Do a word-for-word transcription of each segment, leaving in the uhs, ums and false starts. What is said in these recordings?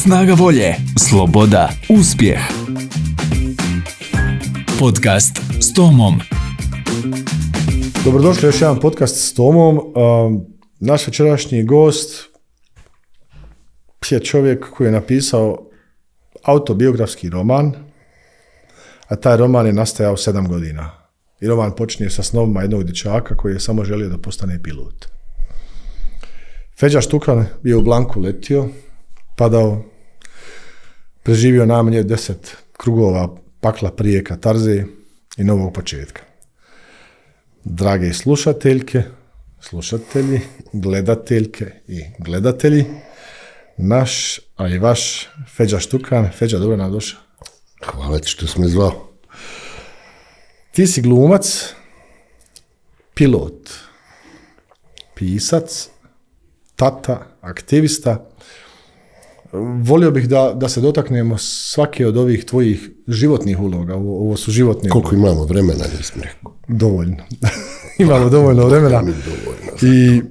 Snaga volje, sloboda, uspjeh. Podcast s Tomom. Dobrodošli u još jedan podcast s Tomom. Um, naš večerašnji gost je čovjek koji je napisao autobiografski roman, a taj roman je nastajao sedam godina. I roman počinje sa snovima jednog dječaka koji je samo želio da postane pilot. Feđa Štukan je u Blanku letio, padao, preživio najmanje deset krugova pakla prije katarze i novog početka. Drage slušateljke, slušatelji, gledateljke i gledatelji, naš, a i vaš Feđa Štukan. Feđa, dobro nam došao. Hvala ti što si me zvao. Ti si glumac, pilot, pisac, tata, aktivista. Volio bih da, da se dotaknemo svake od ovih tvojih životnih uloga. Ovo, ovo su životne Koliko uloga. imamo vremena, nisam rekao. Dovoljno. Imamo dovoljno vremena. Dovoljno. I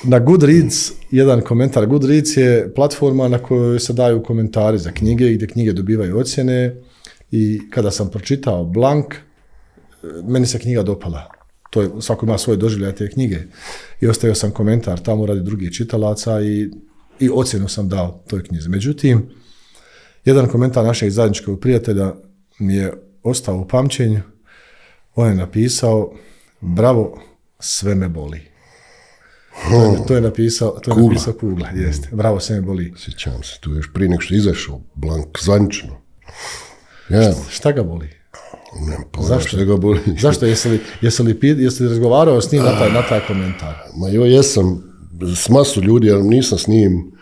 na Goodreads, jedan komentar. Goodreads je platforma na kojoj se daju komentari za knjige, gdje knjige dobivaju ocjene. I kada sam pročitao Blank, meni se knjiga dopala. To je, svako ima svoje doživljaje te knjige. I ostavio sam komentar tamo radi drugih čitalaca i, i ocjenu sam dao toj knjizi. Međutim, jedan komentar našeg zajedničkog prijatelja mi je ostao u pamćenju. On je napisao: bravo, sve me boli. To je, to je napisao, to je Kugla. napisao Kugla, jeste. Bravo, sve me boli. Sjećam se, tu još prije nego što je izašao Blank zvanično. Ja, Šta ga boli? nemam pojma Zašto? što ga boli. Zašto? Jesi li, jesi li, pi- jesi li razgovarao s njim na taj, na taj komentar? Ma jo, jesam s masu ljudi, ali nisam s njim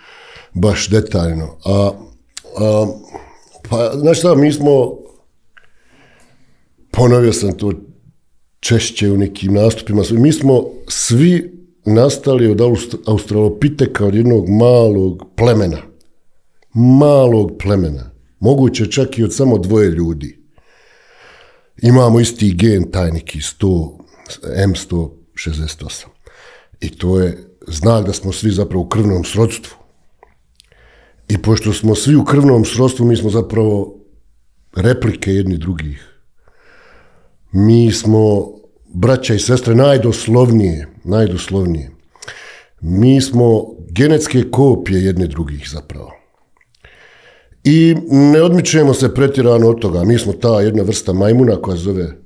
baš detaljno. A, a, pa, znaš šta, mi smo, ponovio sam to češće u nekim nastupima, mi smo svi nastali od Aust- Australopiteka, od jednog malog plemena. Malog plemena. Moguće čak i od samo dvoje ljudi. Imamo isti gen, taj neki sto, em sto šezdeset osam. I to je znak da smo svi zapravo u krvnom srodstvu. I pošto smo svi u krvnom srodstvu, mi smo zapravo replike jedni drugih. Mi smo braća i sestre najdoslovnije, najdoslovnije. Mi smo genetske kopije jedne drugih zapravo. I ne odmičujemo se pretjerano od toga. Mi smo ta jedna vrsta majmuna koja se zove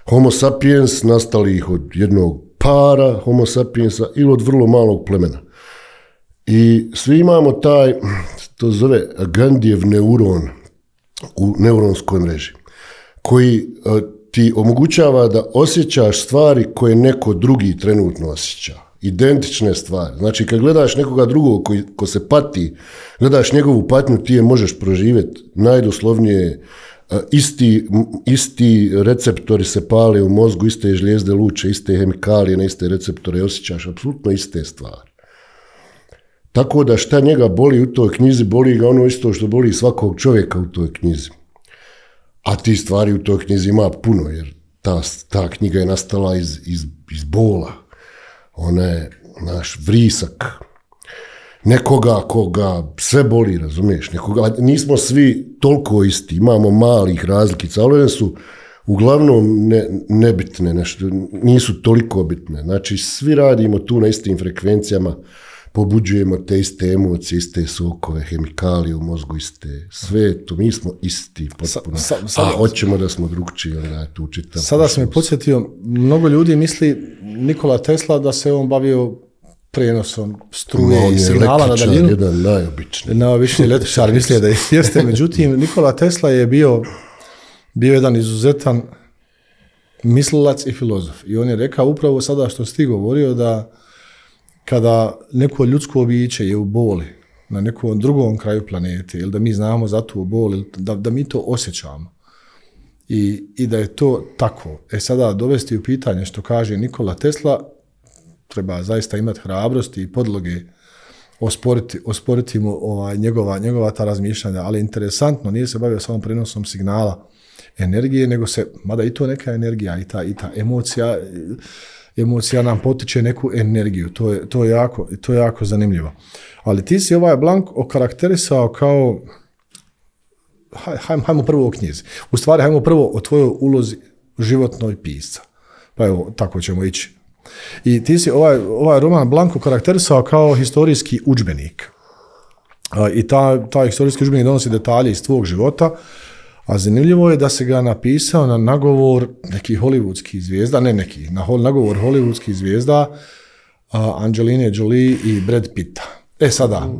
Homo sapiens, nastali ih od jednog para Homo sapiensa ili od vrlo malog plemena. I svi imamo taj, to zove Gandijev neuron u neuronskoj mreži, koji uh, ti omogućava da osjećaš stvari koje neko drugi trenutno osjeća. Identične stvari. Znači, kad gledaš nekoga drugog koji, ko se pati, gledaš njegovu patnju, ti je možeš proživjeti najdoslovnije. Uh, isti, isti receptori se pale u mozgu, iste žlijezde luče, iste hemikalije na iste receptore, osjećaš apsolutno iste stvari. Tako da šta njega boli u toj knjizi, boli ga ono isto što boli svakog čovjeka u toj knjizi. A ti stvari u toj knjizi ima puno, jer ta, ta knjiga je nastala iz, iz, iz bola. Ona je naš vrisak. Nekoga koga sve boli, razumiješ? Nekoga, nismo svi toliko isti, imamo malih razlikica, ali one su uglavnom ne, nebitne, nešto, nisu toliko bitne. Znači, svi radimo tu na istim frekvencijama, pobuđujemo te iste emocije, iste sokove, hemikalije u mozgu, iste, sve to, mi smo isti potpuno, Sa, sa, sada, a hoćemo da smo drugčiji, onda je tu čitam. Sada sam me podsjetio, mnogo ljudi misli Nikola Tesla da se on bavio prenosom struje i signala na daljinu. Jedan najobičniji. Najobičniji električar, misli da jeste. Međutim, Nikola Tesla je bio, bio jedan izuzetan mislilac i filozof. I on je rekao upravo sada što si ti govorio da kada neko ljudsko biće je u boli na nekom drugom kraju planete ili da mi znamo za tu bol, da, da mi to osjećamo I, i da je to tako. E sada dovesti u pitanje što kaže Nikola Tesla, treba zaista imati hrabrosti i podloge osporiti, osporiti mu ovaj, njegova, njegova ta razmišljanja, ali interesantno, nije se bavio samo prenosom signala energije, nego se, mada i to neka energija i ta, i ta emocija, emocija nam potiče neku energiju, to je, to je, jako, to je jako zanimljivo. Ali ti si ovaj Blank okarakterisao kao, hajmo, hajmo prvo o knjizi, u stvari hajmo prvo o tvojoj ulozi životnoj pisca, pa evo, tako ćemo ići. I ti si ovaj, ovaj roman Blank okarakterisao kao historijski udžbenik. I ta, ta historijski udžbenik donosi detalje iz tvog života, a zanimljivo je da se ga napisao na nagovor nekih hollywoodskih zvijezda, ne nekih, na nagovor hollywoodskih zvijezda, uh, Angeline Jolie i Brad Pitta. E sada,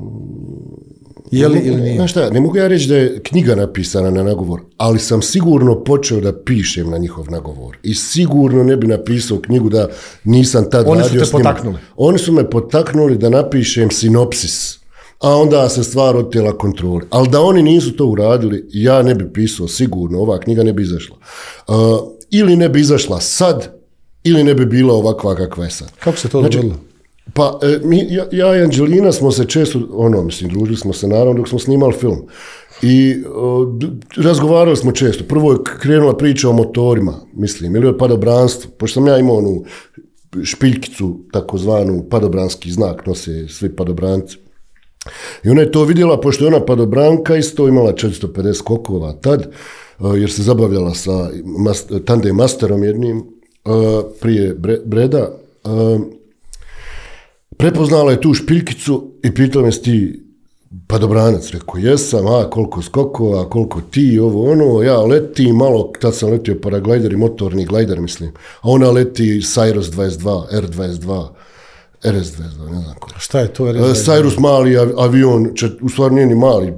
je li ili nije? Znaš šta, ne mogu ja reći da je knjiga napisana na nagovor, ali sam sigurno počeo da pišem na njihov nagovor. I sigurno ne bi napisao knjigu da nisam tad Oni radio su te potaknuli. Oni su me potaknuli da napišem sinopsis, a onda se stvar otela kontroli. Ali da oni nisu to uradili, ja ne bi pisao sigurno, ova knjiga ne bi izašla. Uh, ili ne bi izašla sad, ili ne bi bila ovakva kakva je sad. Kako se to znači, dogodilo? Pa, e, mi, ja, ja i Anđelina smo se često, ono, mislim, družili smo se naravno dok smo snimali film. I o, d, razgovarali smo često. Prvo je krenula priča o motorima, mislim, ili o padobranstvu, pošto sam ja imao onu špiljkicu, takozvanu padobranski znak, nose svi padobranci. I ona je to vidjela, pošto je ona padobranka isto imala četiristo pedeset skokova tad, jer se zabavljala sa tandem masterom jednim prije Breda. Prepoznala je tu špiljkicu i pitala me, si ti padobranac? Rekao, jesam, a koliko skokova, koliko ti, ovo ono, ja letim malo, tad sam letio paraglajder i motorni glajder, mislim, a ona leti Cyrus dvadeset dva, R dvadeset dva, R S dvadeset dva, ne znam ko. Šta je to R S dvadeset dva? Cyrus mali avion, u stvari nije ni mali,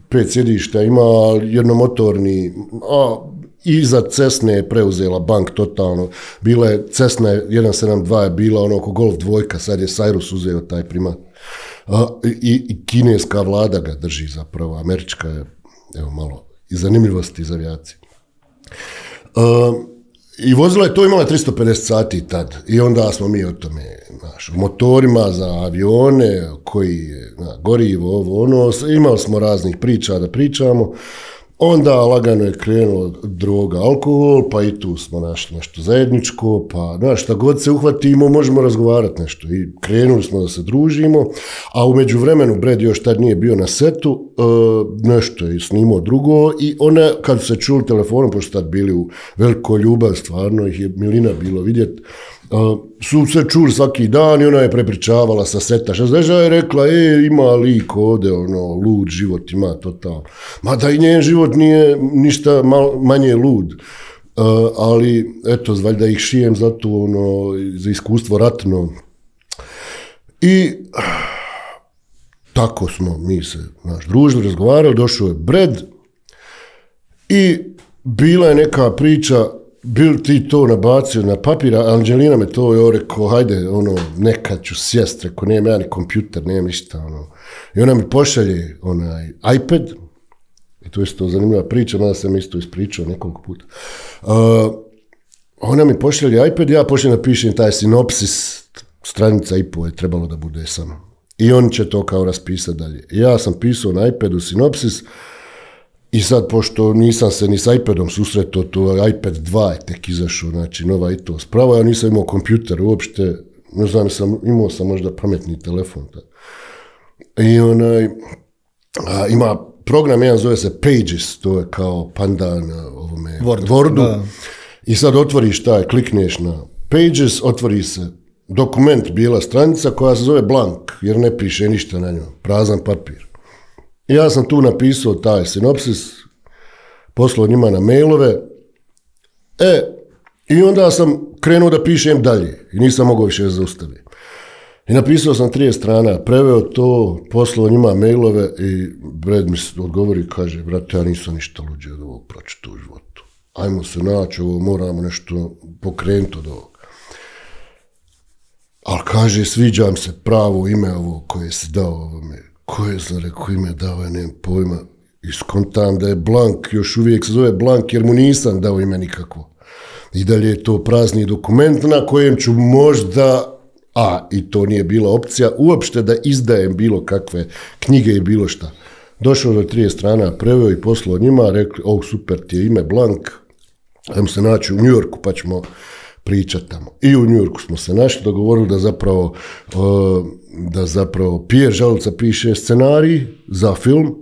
pet sjedišta, ima jednomotorni, a iza Cessne je preuzela bank totalno. Bila je Cessna jedan sedam dva je bila ono oko Golf dvojka, sad je Cyrus uzeo taj primat. A, i, i kineska vlada ga drži zapravo, američka je, evo malo, i zanimljivosti iz avijacije. A, I vozila je to, imala tristo pedeset sati tad. I onda smo mi o tome, znaš, motorima za avione, koji na, gorivo, ovo, ono, imali smo raznih priča da pričamo. Onda lagano je krenulo droga, alkohol, pa i tu smo našli nešto zajedničko, pa znaš, šta god se uhvatimo, možemo razgovarati nešto. I krenuli smo da se družimo, a u međuvremenu Brad još tad nije bio na setu, uh, nešto je snimao drugo i ona, kad su se čuli telefonom, pošto tad bili u velikoj ljubav, stvarno ih je milina bilo vidjeti, Uh, su se čuli svaki dan i ona je prepričavala sa seta. Šta znaš, je rekla, e, ima lik ovde, ono, lud život ima totalno. Mada i njen život nije ništa mal, manje lud. Uh, ali, eto, valjda ih šijem za to, ono, za iskustvo ratno. I tako smo mi se, znaš, družili, razgovarali, došao je Brad i bila je neka priča. Bil ti to nabacio na papira, Anđelina me to je rekao, hajde, ono, nekad ću sjest, rekao, nemam ja ni kompjuter, nemam ništa, ono. I ona mi pošalje onaj iPad, i to je isto zanimljiva priča, mada sam isto ispričao nekoliko puta. Uh, ona mi pošalje iPad, ja pošaljem napišem taj sinopsis, stranica i po je trebalo da bude samo. I on će to kao raspisati dalje. I ja sam pisao na iPadu sinopsis. I sad, pošto nisam se ni s iPadom susretao, to iPad dva je tek izašao, znači nova i to spravo, ja nisam imao kompjuter uopšte, ne znam, sam, imao sam možda pametni telefon. Da. I onaj, a, ima program, jedan zove se Pages, to je kao pandan na ovome Word, Wordu. Da. I sad otvoriš taj, klikneš na Pages, otvori se dokument, bijela stranica koja se zove blank, jer ne piše ništa na njoj, prazan papir. Ja sam tu napisao taj sinopsis, poslao njima na mailove, e, i onda sam krenuo da pišem dalje i nisam mogao više zaustaviti. I napisao sam trideset strana, preveo to, poslao njima mailove i Brad mi odgovori i kaže, brate, ja nisam ništa luđe od ovog pročita u životu. Ajmo se naći, ovo moramo nešto pokrenuti od ovog. Ali kaže, sviđam se pravo ime ovo koje si dao ovome. Koje sam rekao ime dao, ja nemam pojma. I skontam da je blank, još uvijek se zove blank jer mu nisam dao ime nikakvo. I dalje je to prazni dokument na kojem ću možda, a i to nije bila opcija, uopšte da izdajem bilo kakve knjige i bilo šta. Došao do trideset strana, preveo i poslao njima, rekli, o super ti je ime blank, ajmo se naći u New Yorku pa ćemo pričati tamo. I u New Yorku smo se našli, dogovorili da zapravo, da zapravo Pierre Žaluca piše scenarij za film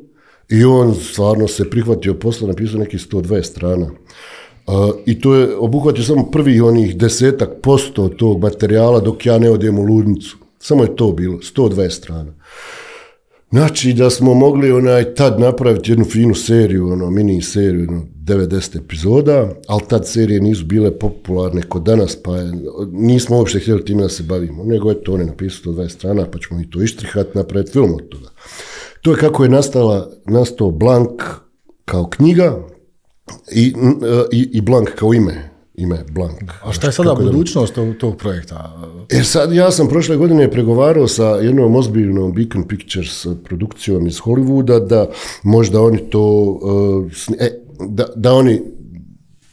i on stvarno se prihvatio posla, napisao nekih sto dvadeset strana. Uh, I to je obuhvatio samo prvih onih desetak posto tog materijala dok ja ne odem u ludnicu. Samo je to bilo, sto dvadeset strana. Znači da smo mogli onaj tad napraviti jednu finu seriju, ono, mini seriju, ono, devedeset epizoda, ali tad serije nisu bile popularne kod danas, pa je, nismo uopšte htjeli time da se bavimo, nego je to on je napisao sto dvadeset strana, pa ćemo i to ištrihati, napraviti film od toga. To je kako je nastala, nastao Blank kao knjiga i, i, i Blank kao ime. Ime Blank. A šta je sada budućnost tog, tog projekta? Jer sad ja sam prošle godine pregovarao sa jednom ozbiljnom Beacon Pictures produkcijom iz Hollywooda da možda oni to uh, e, da, da oni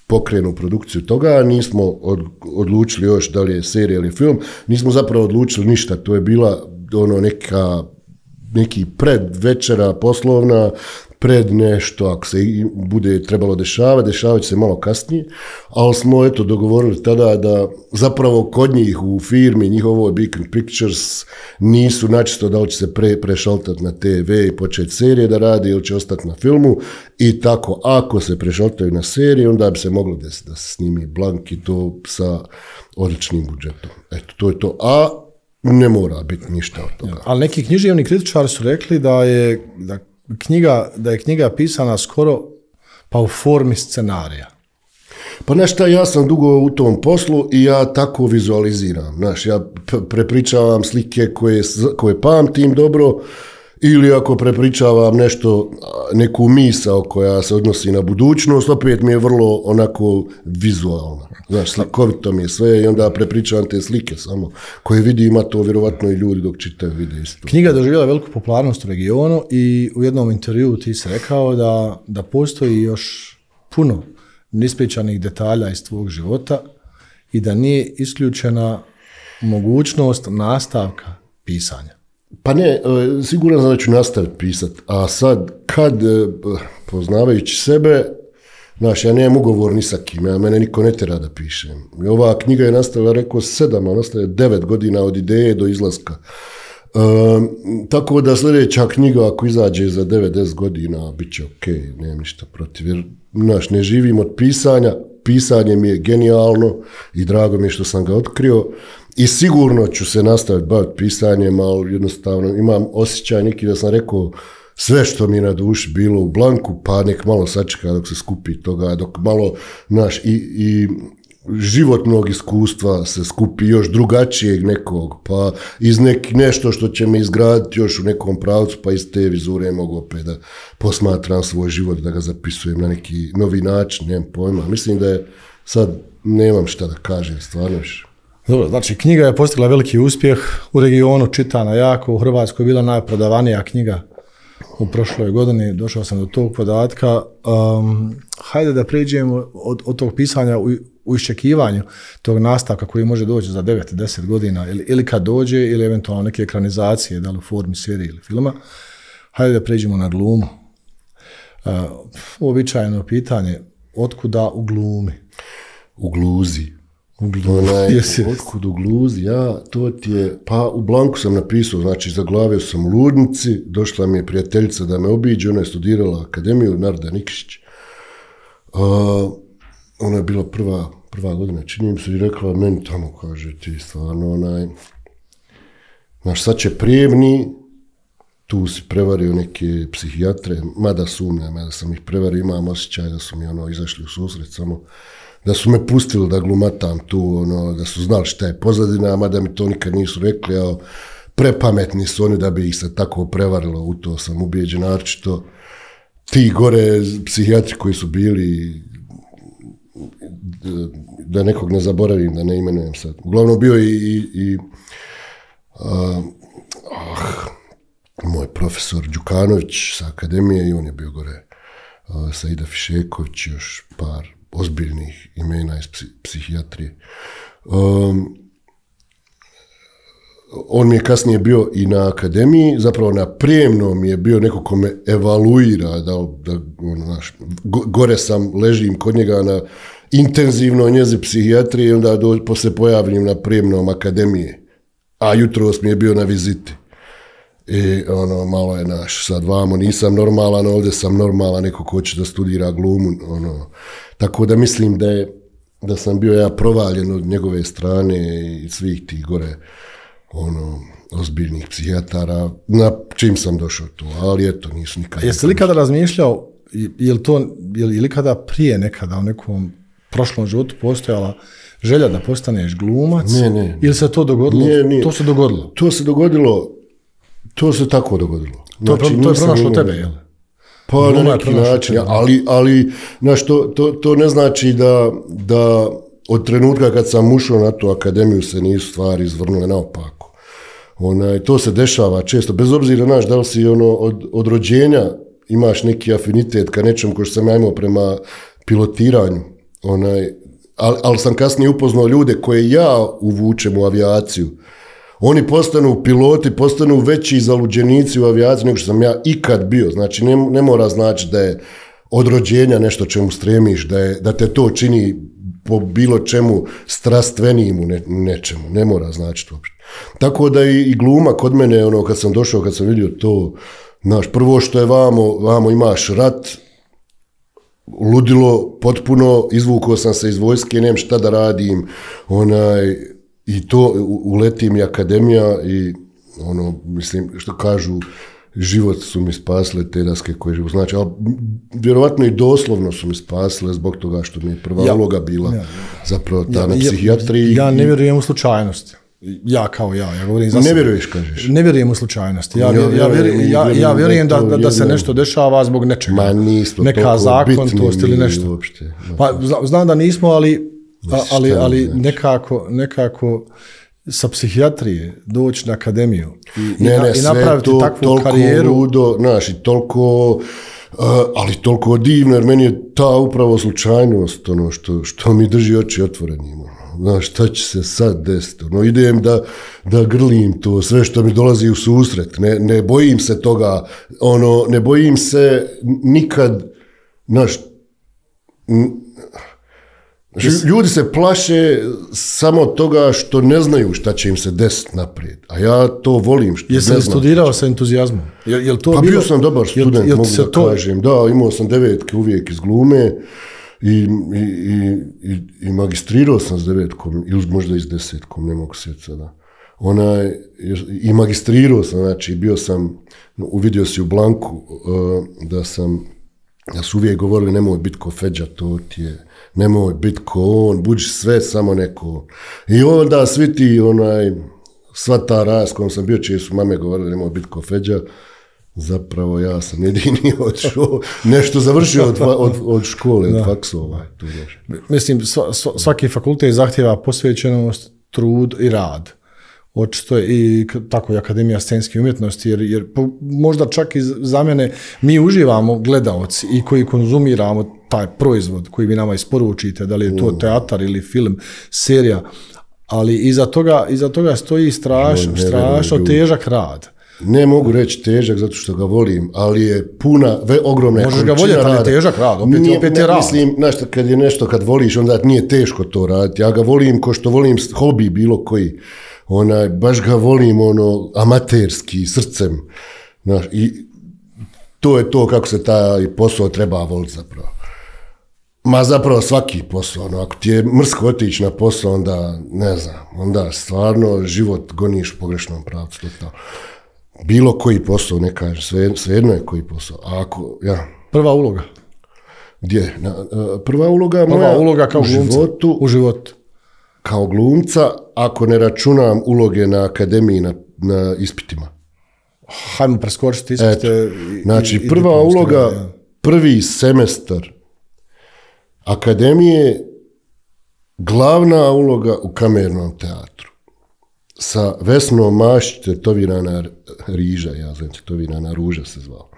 pokrenu produkciju toga, nismo od, odlučili još da li je serija ili film, nismo zapravo odlučili ništa, to je bila ono neka neki pred večera poslovna, pred nešto, ako se bude trebalo dešavati, dešavat će se malo kasnije, ali smo eto dogovorili tada da zapravo kod njih u firmi, njihovo Beacon Pictures, nisu načisto da li će se pre, prešaltati na te ve i početi serije da radi ili će ostati na filmu i tako, ako se prešaltaju na serije, onda bi se moglo desiti da se snimi Blank i to sa odličnim budžetom. Eto, to je to. A ne mora biti ništa od toga. Ja, ali neki književni kritičari su rekli da je da knjiga, da je knjiga pisana skoro pa u formi scenarija. Pa znaš šta, ja sam dugo u tom poslu i ja tako vizualiziram. Znaš, ja prepričavam slike koje, koje pamtim dobro ili ako prepričavam nešto, neku misao koja se odnosi na budućnost, opet mi je vrlo onako vizualna. Znaš, slikovito mi je sve i onda prepričavam te slike samo koje vidim, a to vjerovatno i ljudi dok čitaju vide isto. Knjiga je doživjela veliku popularnost u regionu i u jednom intervjuu ti si rekao da, da postoji još puno nispričanih detalja iz tvog života i da nije isključena mogućnost nastavka pisanja. Pa ne, siguran sam da ću nastaviti pisati, a sad kad, poznavajući sebe, znaš, ja nemam ugovor ni sa kim, ja mene niko ne tera da pišem. Ova knjiga je nastavila, rekao, sedam, a nastavila devet godina od ideje do izlaska. E, tako da sljedeća knjiga, ako izađe za devedeset godina, bit će ok, nemam ništa protiv. Jer, znaš, ne živim od pisanja, pisanje mi je genijalno i drago mi je što sam ga otkrio. I sigurno ću se nastaviti baviti pisanjem, ali jednostavno imam osjećaj neki da sam rekao sve što mi je na duši bilo u Blanku, pa nek malo sačeka dok se skupi toga, dok malo, znaš, i, i životnog iskustva se skupi još drugačijeg nekog, pa iz nek, nešto što će me izgraditi još u nekom pravcu, pa iz te vizure mogu opet da posmatram svoj život, da ga zapisujem na neki novi način, nemam pojma. Mislim da je sad, nemam šta da kažem, stvarno više. Dobro, znači knjiga je postigla veliki uspjeh u regionu, čitana jako, u Hrvatskoj je bila najprodavanija knjiga u prošloj godini, došao sam do tog podatka. Um, hajde da pređemo od, od tog pisanja u, u iščekivanju tog nastavka koji može doći za devet do deset godina ili, ili kad dođe ili eventualno neke ekranizacije, da li u formi serije ili filma. Hajde da pređemo na glumu. Uh, uobičajeno pitanje, otkuda u glumi? U gluzi. U gluzi. Onaj, otkud u gluzi, ja, to ti je, pa u Blanku sam napisao, znači zaglavio sam u ludnici, došla mi je prijateljica da me obiđe, ona je studirala akademiju, Narda Nikšić. Uh, ona je bila prva, prva godina, čini mi se i rekla meni tamo, kaže ti stvarno, onaj, znaš, sad će prijemni, tu si prevario neke psihijatre, mada sumnjam, mada sam ih prevario, imam osjećaj da su mi ono izašli u susret, samo da su me pustili da glumatam tu, ono, da su znali šta je pozadina, mada mi to nikad nisu rekli, a prepametni su oni da bi ih se tako prevarilo, u to sam ubijeđen, naročito ti gore psihijatri koji su bili, da nekog ne zaboravim, da ne imenujem sad. Uglavnom bio i, i, i uh, uh, moj profesor Đukanović sa akademije i on je bio gore uh, Saida Fišeković, još par ozbiljnih imena iz psihijatrije. Um, on mi je kasnije bio i na akademiji, zapravo na prijemnom je bio neko ko me evaluira, da, da, ono, naš, gore sam, ležim kod njega na intenzivno njezi psihijatrije i onda do, posle pojavljim na prijemnom akademije. A jutros mi je bio na viziti. I ono, malo je naš, sad vamo nisam normalan, ovdje sam normalan, neko ko će da studira glumu. Ono. Tako da mislim da je da sam bio ja provaljen od njegove strane i svih tih gore ono, ozbiljnih psihijatara, na čim sam došao tu, ali eto, nisu nikad. Jeste li kada razmišljao, je li to, je li kada prije nekada u nekom prošlom životu postojala želja da postaneš glumac? Ne, ne. Ili se to dogodilo? Ne, ne. To se dogodilo? To se dogodilo, to se tako dogodilo. Znači, to je, to je pronašlo tebe, jel? Pa Gluma na neki način, tebe. ali, ali znaš, to, to, to ne znači da, da od trenutka kad sam ušao na tu akademiju se nisu stvari izvrnule naopako. Onaj, to se dešava često, bez obzira, znaš, da li si ono, od, od rođenja imaš neki afinitet ka nečem ko što sam ja imao prema pilotiranju, onaj, ali, ali sam kasnije upoznao ljude koje ja uvučem u avijaciju. Oni postanu piloti, postanu veći zaluđenici u avijaciji nego što sam ja ikad bio. Znači, ne, ne mora znači da je od rođenja nešto čemu stremiš, da, je, da te to čini po bilo čemu strastvenijim u ne, nečemu. Ne mora znači to. Tako da i, i gluma kod mene, ono, kad sam došao, kad sam vidio to, znaš, prvo što je vamo, vamo imaš rat, ludilo, potpuno, izvukao sam se iz vojske, nemam šta da radim, onaj, i to uletim i akademija i ono, mislim, što kažu, život su mi spasile te daske koje život znači, ali vjerovatno i doslovno su mi spasile zbog toga što mi je prva ja, uloga bila ja, zapravo ta ja, na psihijatriji. Ja, ja ne vjerujem u slučajnosti. Ja kao ja, ja govorim za Ne vjeruješ, kažeš? Ne vjerujem u slučajnosti. Ja, ja, ja, vjerujem, ja, ja vjerujem da, da, da se nešto dešava zbog nečega. Ma nismo neka zakonitost ili nešto. Uopšte, pa, znam da nismo, ali, a, ali, ali nekako, nekako sa psihijatrije doći na akademiju i, ne, ne, i napraviti to, takvu karijeru. Ludo, znaš, i toliko, uh, ali toliko divno, jer meni je ta upravo slučajnost ono što, što mi drži oči otvorenim. Znaš, šta će se sad desiti? No, idem da, da grlim to, sve što mi dolazi u susret. Ne, ne bojim se toga, ono, ne bojim se nikad, znaš, ljudi se plaše samo toga što ne znaju šta će im se desiti naprijed. A ja to volim što Jesi ne li znam. studirao sa entuzijazmom? Jel, jel to pa bilo... bio sam dobar student, jel, jel mogu da to... kažem. Da, imao sam devetke uvijek iz glume i, i, i, i, i magistrirao sam s devetkom, ili možda i s desetkom, ne mogu sjeti sada. Onaj, i magistrirao sam, znači bio sam, uvidio si u Blanku uh, da sam, da su uvijek govorili nemoj biti ko Feđa, to ti je, nemoj biti ko on, buđi sve samo neko. I onda svi ti, onaj, sva ta raz kojom sam bio, čije su mame govorili nemoj biti ko Feđa, zapravo ja sam jedini odšao, nešto završio od, od, od škole, da. Od faksova. Mislim, sva, svaki fakultet zahtjeva posvećenost, trud i rad. Očito je i tako i Akademija scenske umjetnosti, jer, jer možda čak i za mene mi uživamo gledaoci i koji konzumiramo taj proizvod koji vi nama isporučite, da li je to teatar ili film, serija, ali iza toga, iza toga stoji strašno, strašno težak rad. Ne mogu reći težak zato što ga volim, ali je puna, ve, ogromna možeš ga voljeti, ali je težak rad, opet, nije, opet je ne, rad. Mislim, znaš, kad je nešto, kad voliš, onda nije teško to raditi. Ja ga volim ko što volim hobi bilo koji. Onaj, baš ga volim ono, amaterski, srcem. Znaš, i to je to kako se taj posao treba voliti zapravo. Ma zapravo svaki posao, ono, ako ti je mrsko otići na posao, onda, ne znam, onda stvarno život goniš u pogrešnom pravcu. Total. Bilo koji posao, ne kažem, sve, svejedno je koji posao. A ako, ja. Prva uloga? Gdje? Na, prva uloga prva moja uloga kao u životu. U životu. Kao glumca, ako ne računam uloge na akademiji, na, na ispitima. Hajmo preskočiti ispite. Eto, znači, i, prva i uloga, ja. Prvi semestar akademije, glavna uloga u kamernom teatru. Sa Vesnom Mašić, tetovirana riža, ja znam, tetovirana ruža se zvao.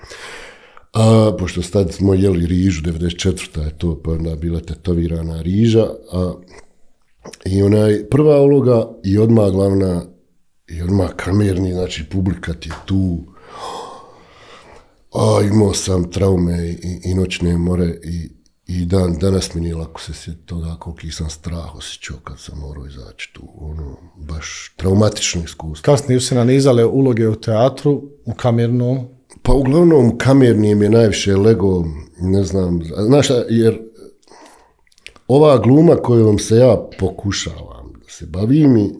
A, pošto sad smo jeli rižu, devedeset četvrta je to, pa onda bila tetovirana riža, a i onaj prva uloga i odmah glavna i odmah kamerni, znači publika ti je tu. A imao sam traume i, i noćne more i, I dan, danas mi nije lako se sjetiti toga koliki sam strah osjećao kad sam morao izaći tu. Ono, baš traumatično iskustvo. Kasnije su se nanizale uloge u teatru, u kamernom. Pa uglavnom kamernijem je najviše lego, ne znam, znaš, jer ova gluma kojom se ja pokušavam da se bavim i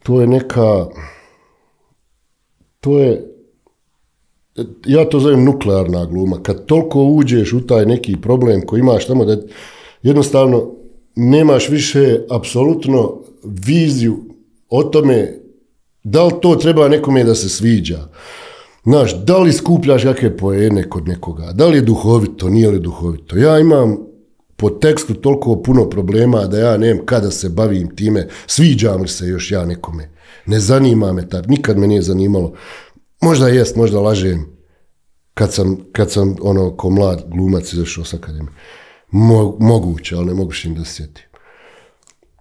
to je neka, to je, ja to zovem nuklearna gluma. Kad toliko uđeš u taj neki problem koji imaš tamo da jednostavno nemaš više apsolutno viziju o tome da li to treba nekome da se sviđa. Znaš, da li skupljaš kakve poene kod nekoga, da li je duhovito, nije li duhovito. Ja imam po tekstu toliko puno problema da ja nemam kada se bavim time, sviđam li se još ja nekome. Ne zanima me tad, nikad me nije zanimalo. Možda jest, možda lažem kad sam, kad sam ono ko mlad glumac izašao s akademije. Mo, moguće, ali ne mogu im da se sjetim.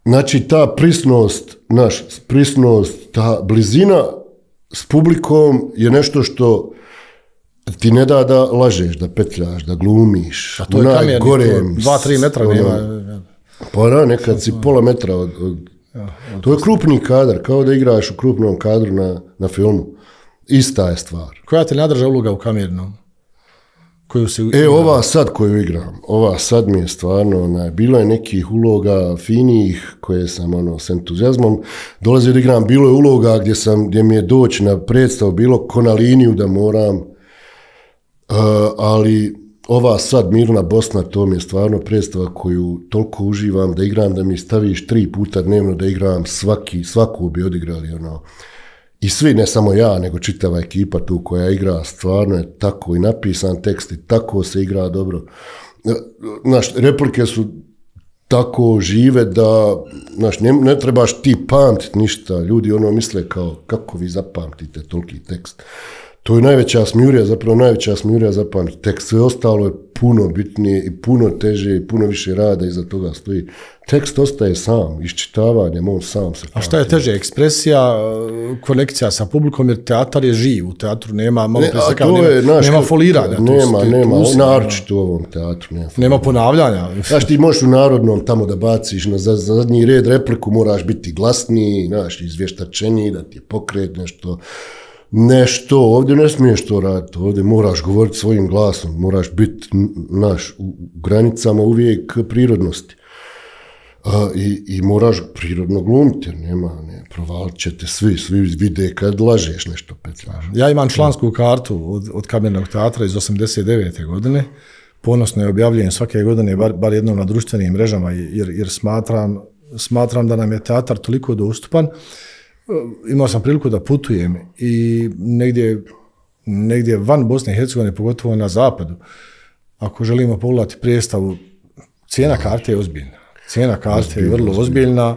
Znači ta prisnost, naš prisnost, ta blizina s publikom je nešto što ti ne da da lažeš, da petljaš, da glumiš. A to je kamerni, dva, tri metra ono, nema. Pa da, nekad si pola metra od... od ja, od to je krupni kadar, kao da igraš u krupnom kadru na, na filmu. Ista je stvar. Koja te nadrža uloga u kamernom? Koju si e, ova sad koju igram, ova sad mi je stvarno, onaj, bilo je nekih uloga finijih koje sam ono, s entuzijazmom dolazio da igram, bilo je uloga gdje, sam, gdje mi je doći na predstavu, bilo ko na liniju da moram, uh, ali ova sad Mirna Bosna, to mi je stvarno predstava koju toliko uživam da igram, da mi staviš tri puta dnevno da igram, svaki, svaku bi odigrali, ono, i svi, ne samo ja, nego čitava ekipa tu koja igra, stvarno je tako i napisan tekst i tako se igra dobro. Znaš, replike su tako žive da, znaš, ne, ne trebaš ti pamtiti ništa. Ljudi ono misle kao, kako vi zapamtite toliki tekst. To je najveća smijurija, zapravo najveća smijurija zapamtiti tekst. Sve ostalo je puno bitnije i puno teže i puno više rada iza toga stoji. Tekst ostaje sam, iščitavanjem, on sam se... A šta je teže, ekspresija, konekcija sa publikom, jer teatar je živ, u teatru nema, malo ne, preseka, nema, je, naš, nema foliranja. Nema, tu, nema, tu, naročito u ovom teatru. Nema, nema ponavljanja. Znaš, ti možeš u narodnom tamo da baciš na zadnji red repliku, moraš biti glasniji, znaš, izvještačeniji, da ti je pokret nešto... Nešto, ovdje ne smiješ to raditi, ovdje moraš govoriti svojim glasom, moraš biti naš, u granicama uvijek prirodnosti. A, i, i moraš prirodno glumiti, jer nema, ne, provalit ćete svi, svi vide kad lažeš nešto petljaš. Ja imam člansku kartu od, od Kamernog teatra iz osamdeset devete godine, ponosno je objavljujem svake godine, bar, bar jednom na društvenim mrežama, jer, jer smatram, smatram da nam je teatar toliko dostupan. Imao sam priliku da putujem i negdje, negdje van Bosne i Hercegovine, pogotovo na zapadu, ako želimo pogledati predstavu, cijena karte je ozbiljna. Cijena karte je vrlo ozbiljna.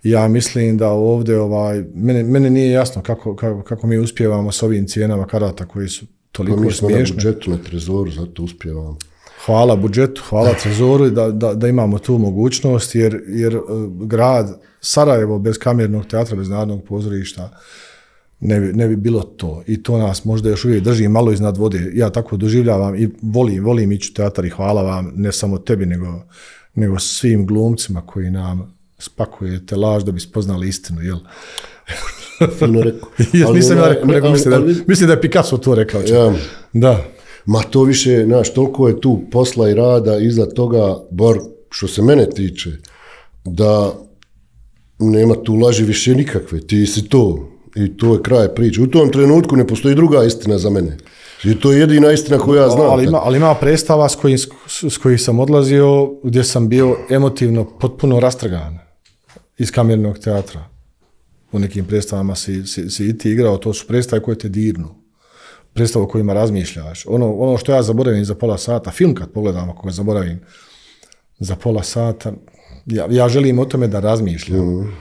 Ja mislim da ovdje, ovaj, mene, mene nije jasno kako, kako, kako mi uspijevamo s ovim cijenama karata koji su toliko smiješne. Pa mi smo na budžetu, na trezoru, zato uspijevamo. Hvala budžetu, hvala trezoru da, da, da imamo tu mogućnost, jer, jer grad Sarajevo bez Kamernog teatra, bez Narodnog pozorišta ne bi, ne bi bilo to. I to nas možda još uvijek drži malo iznad vode. Ja tako doživljavam i volim, volim ići u teatar i hvala vam, ne samo tebi, nego, nego svim glumcima koji nam spakujete laž da bi spoznali istinu, jel? Fino rekao. Ja nisam ja rekao, rekao mislim, da, mislim da je Picasso to rekao. Ja. Da. Ma to više, znaš, toliko je tu posla i rada iza toga, bar što se mene tiče, da nema tu laži više nikakve, ti si to i to je kraj priče. U tom trenutku ne postoji druga istina za mene. I to je jedina istina koju ja znam. Ali ima, ali ima predstava s kojih s koji sam odlazio gdje sam bio emotivno potpuno rastrgan iz Kamernog teatra. U nekim predstavama si, si, si i ti igrao, to su predstave koje te dirnu. Predstava o kojima razmišljaš. Ono, ono što ja zaboravim za pola sata, film kad pogledam ako ga zaboravim za pola sata, ja, ja želim o tome da razmišljam. Mm.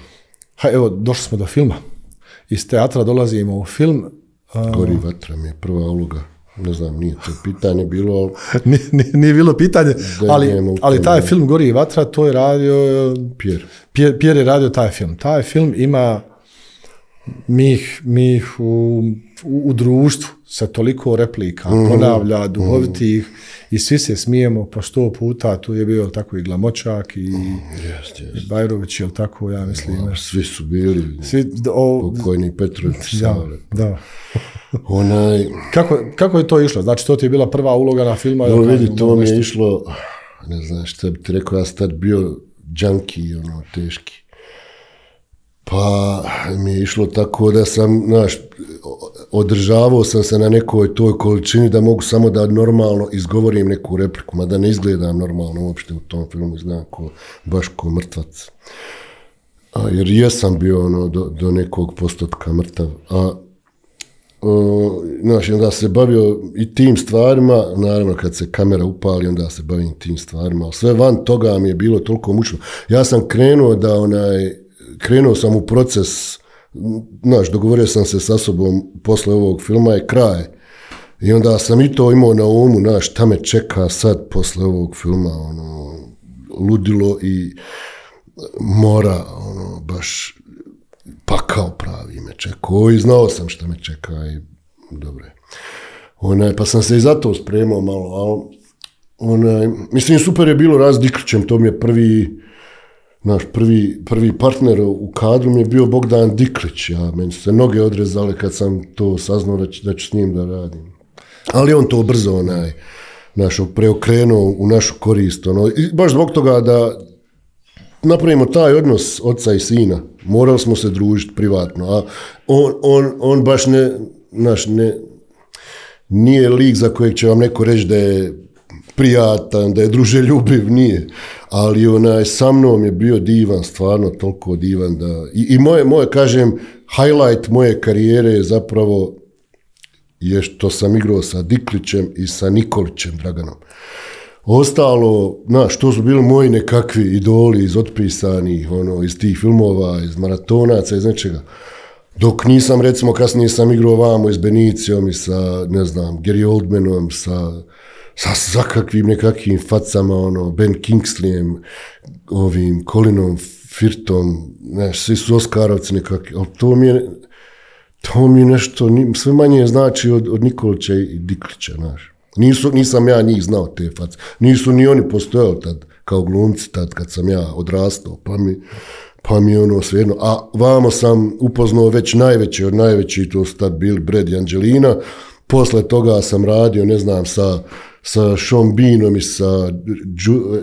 Ha, evo, došli smo do filma. Iz teatra dolazimo u film. A... Gori vatra mi je prva uloga. Ne znam, nije to pitanje bilo, ali... nije, nije, nije bilo pitanje, ali, ali taj film Gori vatra, to je radio... Pierre. Pierre, Pierre je radio taj film. Taj film ima mi ih, mi ih u, u, u društvu sa toliko replika, mm-hmm. ponavlja, duhovitih mm-hmm. i svi se smijemo po sto puta, tu je bio tako i Glamočak i, mm, yes, yes. i Bajrović, jel tako, ja mislim. O, svi su bili, svi, o, pokojni Petrović. Da, da. Onaj... Kako, kako je to išlo? Znači, to ti je bila prva uloga na filma? No, vidi, to mi je išlo, ne znam šta bi ti rekao, ja sam tad bio junkie, ono, teški. Pa mi je išlo tako da sam, znaš, održavao sam se na nekoj toj količini da mogu samo da normalno izgovorim neku repliku, mada ne izgledam normalno uopšte u tom filmu, znam ko, baš ko mrtvac. A, jer jesam bio ono, do, do nekog postotka mrtav. A o, znaš, onda se bavio i tim stvarima, naravno kad se kamera upali, onda se bavim tim stvarima. Sve van toga mi je bilo toliko mučno. Ja sam krenuo da onaj, krenuo sam u proces, znaš, dogovorio sam se sa sobom posle ovog filma je kraj. I onda sam i to imao na umu, znaš, šta me čeka sad posle ovog filma, ono, ludilo i mora, ono, baš pakao pravi me čekao i znao sam šta me čeka i dobro je. Onaj, pa sam se i zato spremao malo, ali onaj, mislim, super je bilo raz Diklićem, to mi je prvi, naš prvi, prvi partner u kadru mi je bio Bogdan Diklić, ja, meni su se noge odrezale kad sam to saznao da, da ću s njim da radim. Ali on to brzo, onaj, naš, preokrenuo u našu korist, ono, i baš zbog toga da napravimo taj odnos oca i sina, morali smo se družiti privatno, a on, on, on baš ne, naš, ne, nije lik za kojeg će vam neko reći da je prijatan, da je druželjubiv, nije, ali onaj, sa mnom je bio divan, stvarno toliko divan da, i, i moje, moje, kažem, highlight moje karijere je zapravo je što sam igrao sa Diklićem i sa Nikolićem Draganom. Ostalo, znaš, to su bili moji nekakvi idoli iz otpisanih, ono, iz tih filmova, iz maratonaca, iz nečega. Dok nisam, recimo, kasnije sam igrao vamo i s Benicijom i sa, ne znam, Gary Oldmanom, sa, sa svakakvim nekakvim facama, ono, Ben Kingsleyem, ovim, Colinom Firthom, znaš, svi su Oskarovci nekakvi, ali to mi je, to mi je nešto, sve manje znači od, od Nikolića i Diklića, znaš. Nisu, nisam ja njih znao te face. Nisu ni oni postojali tad kao glumci tad kad sam ja odrastao, pa mi, pa mi ono svejedno. A vamo sam upoznao već najveći od najvećih, to su tad bili Brad i Angelina. Posle toga sam radio, ne znam, sa, sa Sean Beanom i sa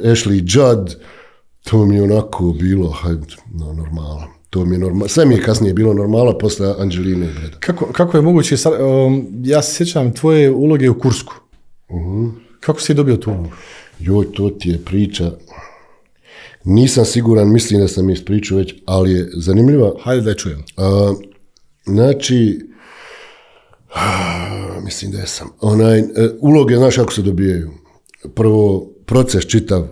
Ashley Judd. To mi je onako bilo, hajde, no, normala. To mi je normalno. Sve mi je kasnije bilo normala posle Angeline i Brada. Kako, kako je moguće, um, ja se sjećam tvoje uloge u Kursku. Uh-huh. Kako si dobio tu ulogu? Joj, to ti je priča. Nisam siguran, mislim da sam ispričao već, ali je zanimljiva. Hajde da je čujem. Uh, znači, uh, mislim da je sam. Onaj, uh, uloge, znaš kako se dobijaju. Prvo, proces čitav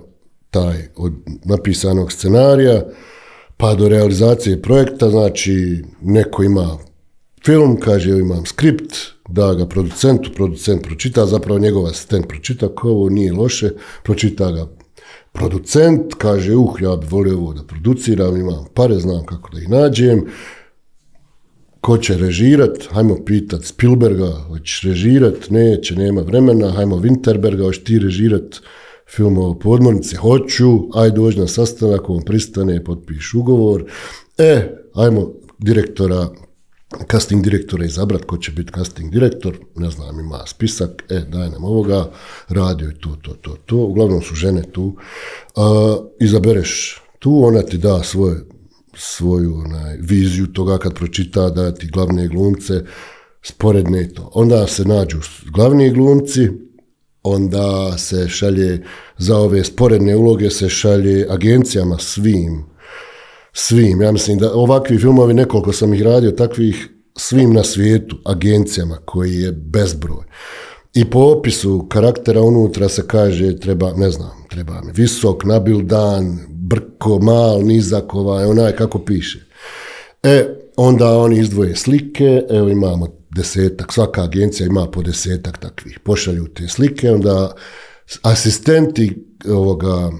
taj od napisanog scenarija, pa do realizacije projekta, znači neko ima film, kaže imam skript, da ga producentu, producent pročita, zapravo njegov asistent pročita, ko ovo nije loše, pročita ga producent, kaže uh, ja bi volio ovo da produciram, imam pare, znam kako da ih nađem, ko će režirat, hajmo pitat Spielberga, hoćeš režirat, neće, nema vremena, hajmo Winterberga, hoćeš ti režirat film o podmornici, hoću, aj dođi na sastanak, on pristane, potpiš ugovor, e, ajmo direktora, casting direktora izabrat, ko će biti casting direktor, ne znam, ima spisak, e, daj nam ovoga, radio je to, to, to, to, uglavnom su žene tu, a, izabereš tu, ona ti da svoj, svoju onaj, viziju toga kad pročita, da ti glavne glumce, sporedne to. Onda se nađu glavni glumci, onda se šalje, za ove sporedne uloge se šalje agencijama svim, svim, ja mislim da ovakvi filmovi, nekoliko sam ih radio, takvih svim na svijetu, agencijama koji je bezbroj. I po opisu karaktera unutra se kaže, treba, ne znam, treba mi visok, nabildan, brko, mal, nizak, ovaj, onaj kako piše. E, onda oni izdvoje slike, evo imamo desetak, svaka agencija ima po desetak takvih, pošalju te slike, onda asistenti ovoga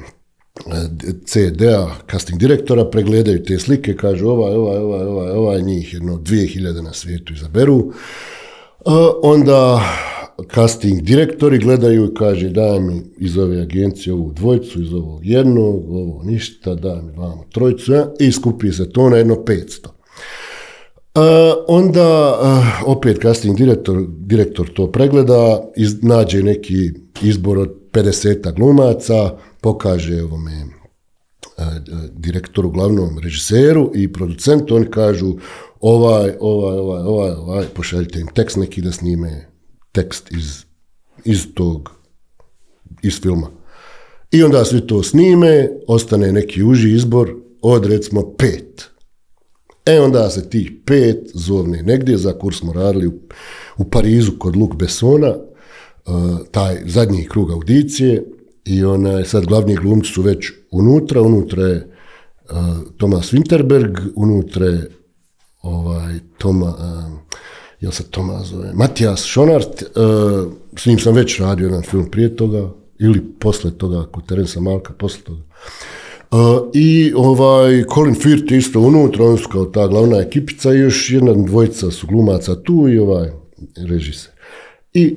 C D-a, casting direktora, pregledaju te slike, kažu ovaj, ovaj, ovaj, ovaj, ovaj, njih jedno dvije hiljade na svijetu izaberu, A onda casting direktori gledaju i kaže daj mi iz ove agencije ovu dvojicu, iz ovog jednog, ovo ništa, daj mi vamo trojicu, ja, i skupi se to na jedno petsto. Uh, onda uh, opet casting direktor, direktor to pregleda, iz, nađe neki izbor od pedeset glumaca, pokaže ovome uh, direktoru, glavnom režiseru i producentu, oni kažu ovaj, ovaj, ovaj, ovaj, ovaj, pošaljite im tekst neki da snime tekst iz, iz tog, iz filma. I onda svi to snime, ostane neki uži izbor od recimo pet. E onda se tih pet zovne negdje, za kurs smo radili u, u Parizu kod Luc Bessona, uh, taj zadnji krug audicije, i onaj, sad glavni glumci su već unutra, unutra je uh, Thomas Winterberg, unutra je ovaj, Toma, uh, jel se Toma zove, Matijas Schonart, uh, s njim sam već radio jedan film prije toga, ili posle toga, kod Terensa Malka, posle toga. Uh, I ovaj Colin Firth isto unutra, on su kao ta glavna ekipica i još jedna dvojica su glumaca tu i ovaj režiser. I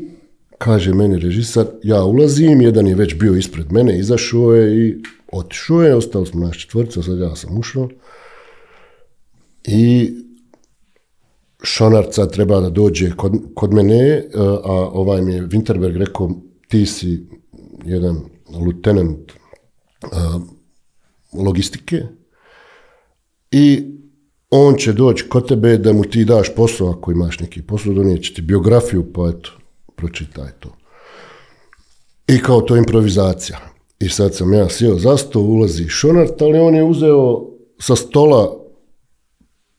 kaže meni režiser, ja ulazim, jedan je već bio ispred mene, izašao je i otišao je, ostali smo naš četvrca, sad ja sam ušao. I Schonart sad treba da dođe kod, kod mene, a ovaj mi je Winterberg rekao, ti si jedan lieutenant uh, logistike i on će doći kod tebe da mu ti daš posao, ako imaš neki posao, donijeće ti biografiju, pa eto, pročitaj to. I kao to improvizacija. I sad sam ja sjeo za sto, ulazi Schonart, ali on je uzeo sa stola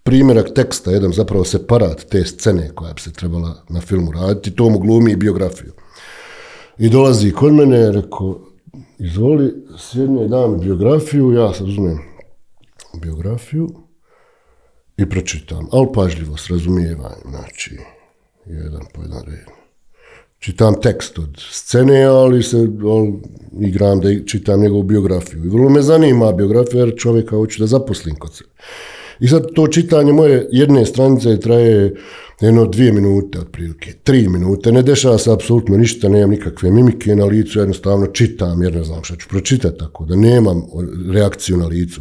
primjerak teksta, jedan zapravo separat te scene koja bi se trebala na filmu raditi, to mu glumi i biografiju. I dolazi kod mene, rekao, izvoli, sjedne, dam biografiju, ja sad uzmem biografiju i pročitam, ali pažljivo, s razumijevanjem, znači, jedan po jedan red. Čitam tekst od scene, ali se ali igram da čitam njegovu biografiju. I vrlo me zanima biografija, jer čovjeka hoću da zaposlim kod sebe. I sad to čitanje moje jedne stranice traje jedno dvije minute otprilike, tri minute, ne dešava se apsolutno ništa, nemam nikakve mimike na licu, jednostavno čitam jer ne znam šta ću pročitati, tako da nemam reakciju na licu.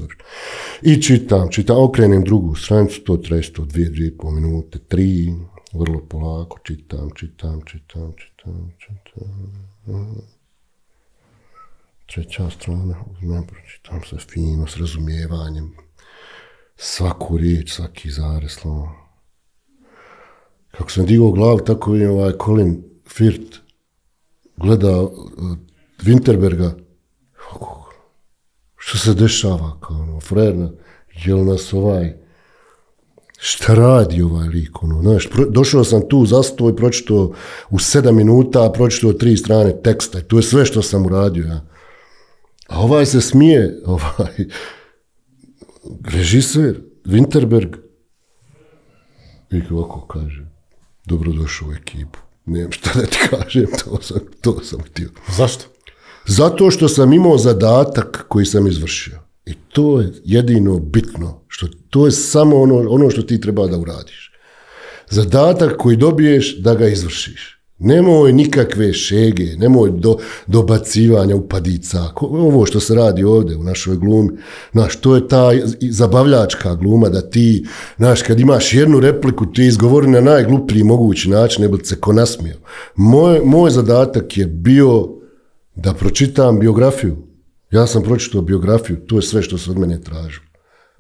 I čitam, čitam, okrenem drugu stranicu, to traje sto dvije, dvije i pol minute, tri, vrlo polako, čitam, čitam, čitam, čitam, čitam. Treća strana, uzmem, pročitam se fino, s razumijevanjem. Svaku riječ, svaki zarez, slovo. Kako sam digao glavu, tako je ovaj Colin Firth gleda uh, Winterberga. Što se dešava, kao ono, frerna, jel nas ovaj, šta radi ovaj lik, ono, znaš, pro, došao sam tu za sto i pročitao u sedam minuta, pročitao tri strane teksta i to je sve što sam uradio, ja. A ovaj se smije, ovaj, režiser, Winterberg, i ovako kaže, dobrodošao u ekipu. Nemam šta da ti kažem, to sam, to sam htio. Zašto? Zato što sam imao zadatak koji sam izvršio. I to je jedino bitno. Što, to je samo ono, ono što ti treba da uradiš. Zadatak koji dobiješ da ga izvršiš. Nemoj nikakve šege, nemoj do, dobacivanja upadica. Ovo što se radi ovdje u našoj glumi, znaš, to je ta zabavljačka gluma da ti, znaš, kad imaš jednu repliku, ti izgovori na najgluplji mogući način, ne bi se ko nasmio. Moj, moj zadatak je bio da pročitam biografiju. Ja sam pročitao biografiju, to je sve što se od mene tražilo.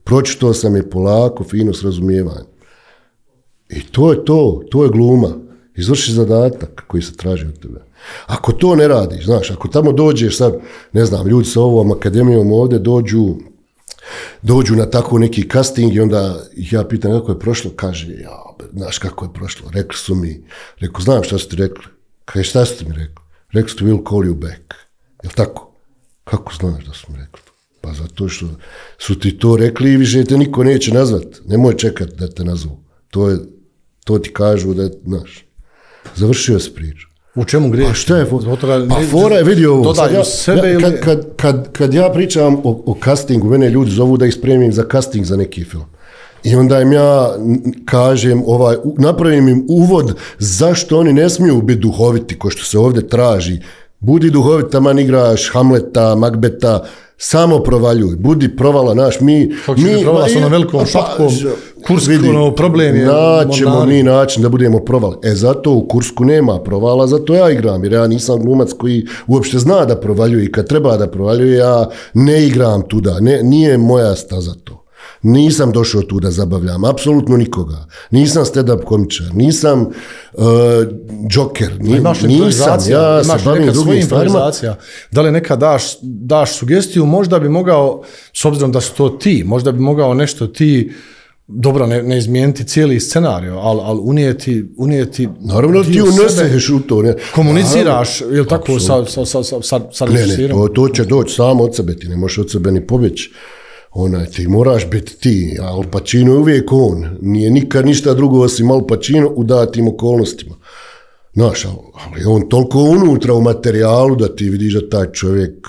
Pročitao sam je polako, fino, s razumijevanjem. I to je to, to je gluma. Izvrši zadatak koji se traži od tebe. Ako to ne radiš, znaš, ako tamo dođeš sad, ne znam, ljudi sa ovom akademijom ovdje dođu, dođu na tako neki casting i onda ih ja pitam kako je prošlo, kaže, ja, znaš kako je prošlo, rekli su mi, rekao, znam šta su ti rekli, kaže, šta su ti mi rekli, rekli su ti we'll call you back, jel tako? Kako znaš da su mi rekli? Pa zato što su ti to rekli i više te niko neće nazvat, nemoj čekati da te nazvu, to je, to ti kažu da je, znaš. Završio se priča. U čemu griješ? Pa šta je fora? Pa fora je, vidi ovo. Dodaju ja, sebe ja, kad, kad, kad, kad ja pričam o, o castingu, mene ljudi zovu da ih spremim za casting za neki film. I onda im ja kažem, ovaj, napravim im uvod zašto oni ne smiju biti duhoviti, ko što se ovdje traži. Budi duhovit, taman igraš Hamleta, Magbeta, samo provaljuj, budi provala naš, mi... Kako će mi provala s onom velikom šapkom, Kursk, ono, problem je... Naćemo mi način da budemo provali. E, zato u Kursku nema provala, zato ja igram, jer ja nisam glumac koji uopšte zna da provaljuje i kad treba da provaljuje, ja ne igram tuda, ne, nije moja staza to. Nisam došao tu da zabavljam, apsolutno nikoga. Nisam stand-up komičar, nisam uh, džoker, ni, nisam, ja se bavim drugim stvarima. Da li nekad daš, daš sugestiju, možda bi mogao, s obzirom da su to ti, možda bi mogao nešto ti, dobro, ne, ne izmijeniti cijeli scenarij, ali al unijeti, unijeti... Naravno ti uneseš u to. Ne. Komuniciraš, je li tako, sa, sa, sa, sa, sa, sa ne, ne, to, to će doći samo od sebe, ti ne možeš od sebe ni pobjeći. Onaj, ti moraš biti ti, Al Pacino je uvijek on, nije nikad ništa drugo osim Al Pacino u datim okolnostima. Znaš, ali on toliko unutra u materijalu da ti vidiš da taj čovjek,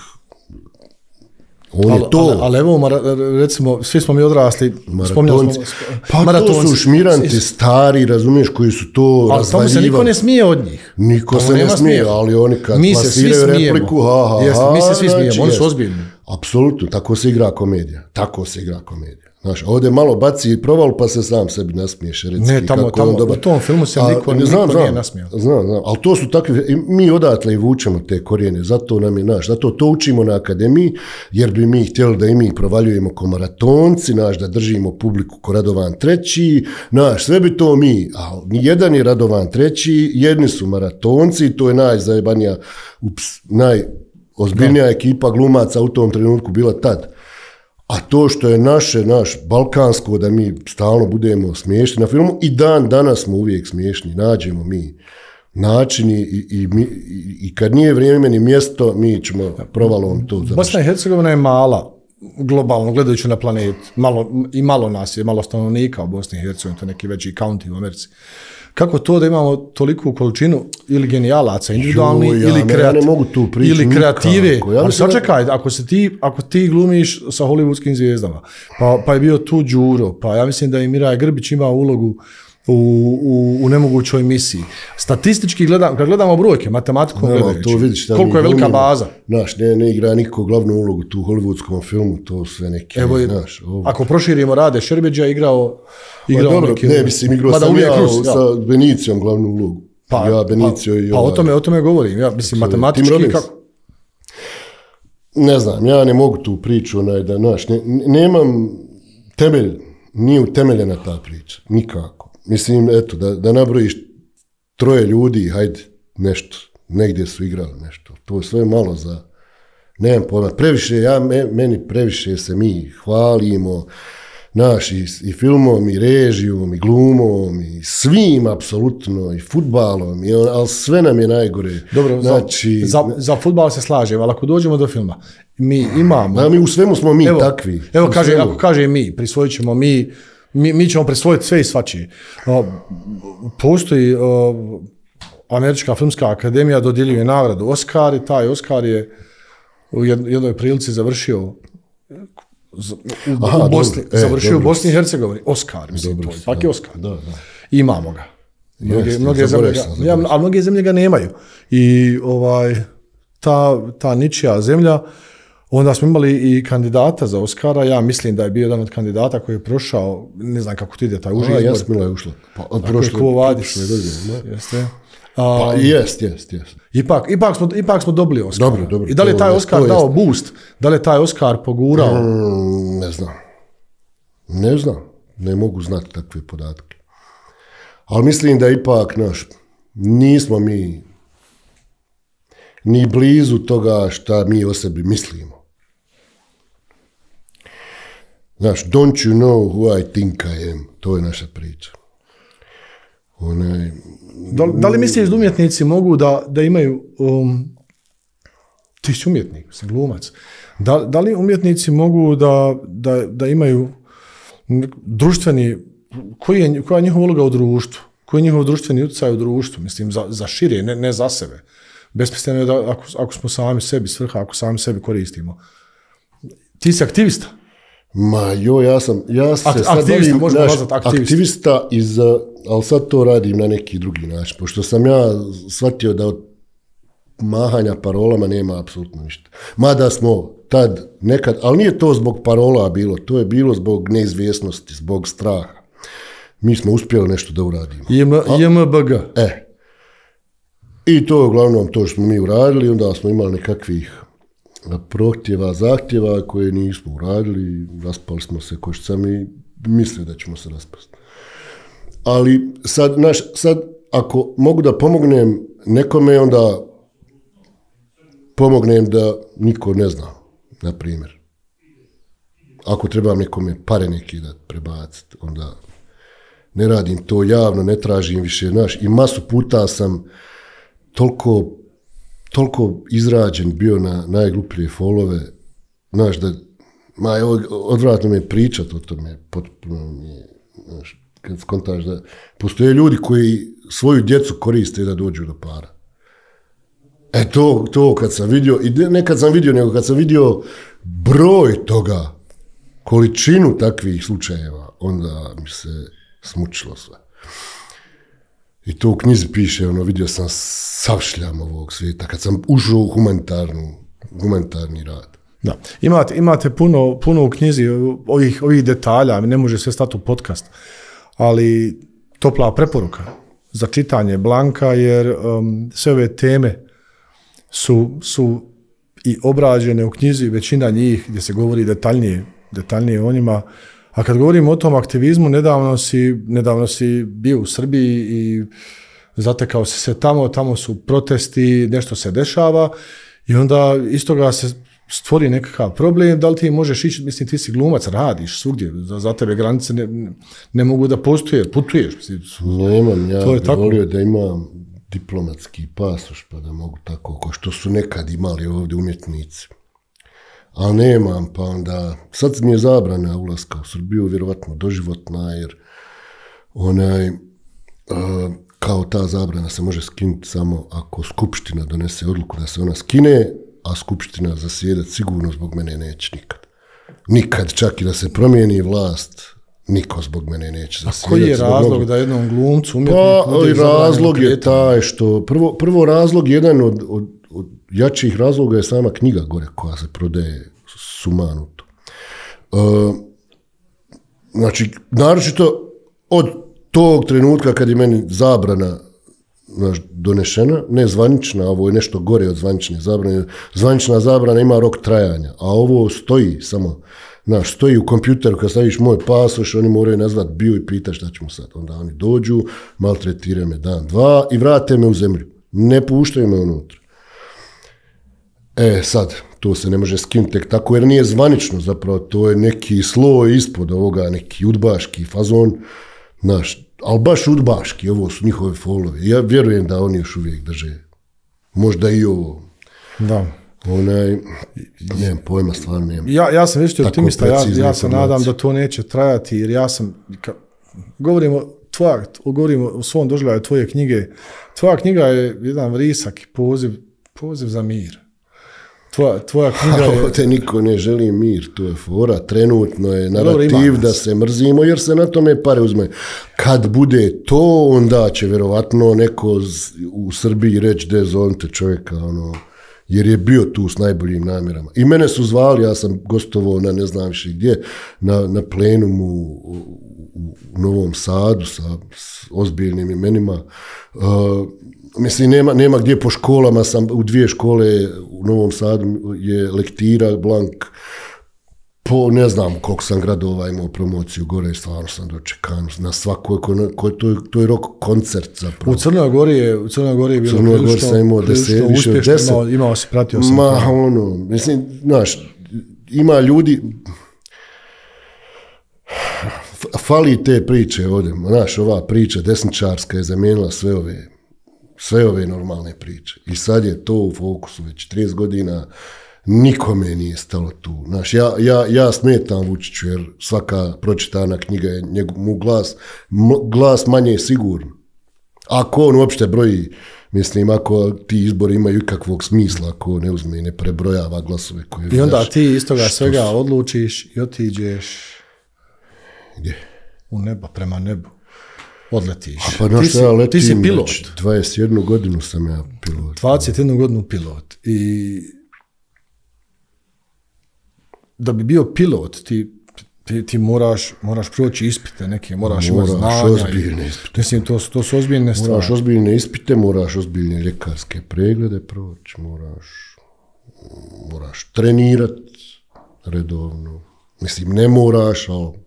on al, je to. Ali, ali evo, recimo, svi smo mi odrasli, maratonci. Pa maratonci. To su šmiranti stari, razumiješ, koji su to ali razvaljivali. Ali tamo se niko ne smije od njih. Niko se ne smije, ali oni kad mi plasiraju repliku, ha, ha, Jeste, ha, mi se svi znači, smijemo, oni su ozbiljni. Apsolutno, tako se igra komedija. Tako se igra komedija. Znaš, ovdje malo baci proval pa se sam sebi nasmiješ. Recki, ne, tamo, tamo u tom filmu se niko, a, niko znam, nije znam, nasmijao. Znam, znam, ali to su takvi, mi odatle i vučemo te korijene, zato nam je, naš, zato to učimo na akademiji, jer bi mi htjeli da i mi provaljujemo ko maratonci, naš, da držimo publiku ko Radovan treći, naš, sve bi to mi, a jedan je Radovan treći, jedni su maratonci, to je najzajebanija, ups, najozbiljnija ekipa glumaca u tom trenutku bila tad. A to što je naše, naš balkansko, da mi stalno budemo smiješni na filmu, i dan danas smo uvijek smiješni, nađemo mi načini i, i, i, i kad nije vrijeme ni mjesto, mi ćemo provalom to završiti. Bosna i Hercegovina je mala, globalno gledajući na planet, malo, i malo nas je, malo stanovnika u Bosni i Hercegovini, to je neki veći county u Americi. Kako to da imamo toliku količinu ili genijalaca individualni jo, ja, ili, kreati, ja mogu tu ili kreative, ja ali sačekaj, ako, se ti, ako ti glumiš sa hollywoodskim zvijezdama, pa, pa je bio tu Đuro, pa ja mislim da i Miraja Grbić ima ulogu u, u, u nemogućoj misiji. Statistički gledam, kad gledamo brojke, matematikom no, gledajući, to vidiš, koliko je velika baza. Naš, ne, ne igra nikako glavnu ulogu tu u hollywoodskom filmu, to sve neki, Evo, znaš. Ovo. Ako proširimo Rade Šerbeđa, igrao igrao dobro, neki, ne, mislim, igrao sam ja Rus, sa ja. Benicijom glavnu ulogu. Pa, ja, Benicio pa, i pa ovaj. o tome, o tome govorim, ja mislim, matematički kako... Ne znam, ja ne mogu tu priču, onaj, da, naš, ne, nemam temelj, nije utemeljena ta priča, nikako. Mislim, eto, da, da nabrojiš troje ljudi, hajde, nešto, negdje su igrali nešto, to je sve malo za, nemam pojma, previše, ja, meni previše se mi hvalimo, naš, i, i filmom, i režijom, i glumom, i svim, apsolutno, i fudbalom, i on, ali sve nam je najgore. Dobro, znači, za, za, za fudbal se slažem, ali ako dođemo do filma, mi imamo... A mi u svemu smo mi evo, takvi. Evo, kaže, ako kaže mi, prisvojit ćemo mi, mi, mi ćemo prisvojiti sve i svačije. Postoji o, Američka filmska akademija, dodjeljuje nagradu Oscar i taj Oscar je u jednoj prilici završio u, Aha, u Bosni, dobro, završio e, u Bosni i Hercegovini. Oscar, mislim, dobro, to je. Svaki Oscar. Da, da. Imamo ga. Mnoge, Jeste, mnoge zemlje ga, ja, a mnoge zemlje ga nemaju. I ovaj, ta, ta ničija zemlja, onda smo imali i kandidata za Oscara, ja mislim da je bio jedan od kandidata koji je prošao, ne znam kako ti ide taj uži izbor. A, Jasmila je ušla. Pa, prošle, prošle godine. Jeste. Pa, jest, jest, jest. Ipak, ipak, smo, ipak smo dobili Oscar. Dobro, dobro. I da li je taj to, Oscar to dao jest. boost? Da li je taj Oscar pogurao? Mm, ne znam. Ne znam. Ne mogu znati takve podatke. Ali mislim da ipak, naš, nismo mi ni blizu toga šta mi o sebi mislimo. Znaš, don't you know who I think I am? To je naša priča. Onaj... Da, da li misliš da umjetnici mogu da, da imaju, um, ti si umjetnik, si glumac, da, da li umjetnici mogu da, da, da imaju društveni, koji je, koja je njihova uloga u društvu, koji je njihov društveni utjecaj u društvu, mislim, za, za šire, ne, ne za sebe. Besmisleno je da ako, ako smo sami sebi svrha, ako sami sebi koristimo. Ti si aktivista. Ma jo, ja sam, ja se Ak, sad aktivista, bavim, možemo naš, nazvat aktivista. aktivista iz, ali sad to radim na neki drugi način, pošto sam ja shvatio da od mahanja parolama nema apsolutno ništa. Mada smo tad nekad, ali nije to zbog parola bilo, to je bilo zbog neizvjesnosti, zbog straha. Mi smo uspjeli nešto da uradimo. J M B G. E. I to je uglavnom to što smo mi uradili, onda smo imali nekakvih prohtjeva, zahtjeva koje nismo uradili, raspali smo se ko što sam i mislio da ćemo se raspasti. Ali sad, naš, sad ako mogu da pomognem nekome, onda pomognem da niko ne zna, na primjer. Ako trebam nekome pare neki da prebaciti, onda ne radim to javno, ne tražim više, znaš, i masu puta sam toliko, toliko izrađen bio na najgluplje folove, znaš, da, ma, evo, odvratno me pričat o tome, potpuno mi je, znaš, kad skontaš da postoje ljudi koji svoju djecu koriste da dođu do para. E to, to kad sam vidio, i ne kad sam vidio, nego kad sam vidio broj toga, količinu takvih slučajeva, onda mi se smučilo sve. I to u knjizi piše, ono, vidio sam sav šljam ovog svijeta, kad sam ušao u humanitarnu, humanitarni rad. Da. Imate, imate puno, puno u knjizi ovih, ovih detalja, ne može sve stati u podcast, ali topla preporuka za čitanje Blanka, jer um, sve ove teme su, su i obrađene u knjizi, većina njih gdje se govori detaljnije, detaljnije o njima. A kad govorimo o tom aktivizmu, nedavno si, nedavno si bio u Srbiji i zatekao si se tamo, tamo su protesti, nešto se dešava i onda iz toga se stvori nekakav problem, da li ti možeš ići, mislim ti si glumac, radiš svugdje, za, za tebe granice ne, ne mogu da postoje, putuješ. Mislim, Nemam, ja bih tako. volio da imam diplomatski pasoš pa da mogu tako, ko što su nekad imali ovdje umjetnici. Ali nemam, pa onda, sad mi je zabrana ulaska u Srbiju, vjerovatno doživotna, jer onaj, uh, kao ta zabrana se može skinuti samo ako skupština donese odluku da se ona skine, a skupština zasjedat sigurno zbog mene neće nikad. Nikad, čak i da se promijeni vlast, niko zbog mene neće zasjedat. A koji je razlog mnogo... da jednom glumcu, umjetniku... Pa, razlog je taj što, prvo, prvo razlog, jedan od, od, od jačih razloga je sama knjiga gore koja se prodaje sumanuto. Uh, znači, naročito od tog trenutka kad je meni zabrana znaš, donešena, ne zvanična, ovo je nešto gore od zvanične zabrane, zvanična zabrana ima rok trajanja, a ovo stoji samo, znaš, stoji u kompjuteru, kad staviš moj pasoš, oni moraju nazvat bio i pita šta ćemo sad. Onda oni dođu, maltretiraju me dan, dva i vrate me u zemlju. Ne puštaju me unutra. E, sad, to se ne može skinuti tek tako, jer nije zvanično, zapravo, to je neki sloj ispod ovoga, neki udbaški fazon, znaš, ali baš udbaški, ovo su njihove folove. Ja vjerujem da oni još uvijek drže. Možda i ovo. Da. Onaj, nemam pojma, stvarno nemam. Ja, ja sam već optimista, ja, ja se nadam da to neće trajati, jer ja sam, ka, govorimo, tvoja, govorimo o svom doživljaju tvoje knjige, tvoja knjiga je jedan vrisak i poziv, poziv za mir. Tvoja, tvoja knjiga je... Ovdje niko ne želi mir, to je fora, trenutno je narativ da se mrzimo, jer se na tome pare uzme. Kad bude to, onda će vjerovatno neko u Srbiji reći de zovite čovjeka, ono, jer je bio tu s najboljim namjerama. I mene su zvali, ja sam gostovao na ne znam više gdje, na, na plenumu u, u, u Novom Sadu sa s ozbiljnim imenima. Uh, Mislim, nema, nema gdje po školama, sam u dvije škole u Novom Sadu je lektira, Blank, po ne znam koliko sam gradova imao promociju gore i stvarno sam dočekan na svakoj, ko, ko, to, je, to je rock koncert zapravo. U Crnoj Gori je, u Crnoj Gori je bilo Crnoj Gori sam imao deset, više od deset. Imao, imao si, pratio sam. Ma, ono, mislim, znaš, ima ljudi, fali te priče ovdje, znaš, ova priča desničarska je zamijenila sve ove sve ove normalne priče. I sad je to u fokusu već trideset godina, nikome nije stalo tu. Znaš, ja, ja, ja smetam Vučiću, jer svaka pročitana knjiga je njegov, mu glas, m, glas manje sigurno. Ako on uopšte broji Mislim, ako ti izbori imaju ikakvog smisla, ako ne uzme i ne prebrojava glasove koje... I onda znaš, ti iz toga svega su... odlučiš i otiđeš... Gdje? U nebo, prema nebu. Odletiš. A pa znaš, ja letim, ti si pilot. dvadeset jednu godinu sam ja pilot. dvadeset jednu godinu pilot. I da bi bio pilot, ti, ti, ti moraš, moraš proći ispite neke, moraš, moraš imati znanja. Moraš ozbiljne ispite. Mislim, to, to su ozbiljne stvari. Moraš ozbiljne ispite, moraš ozbiljne ljekarske preglede proći, moraš, moraš trenirati redovno. Mislim, ne moraš, ali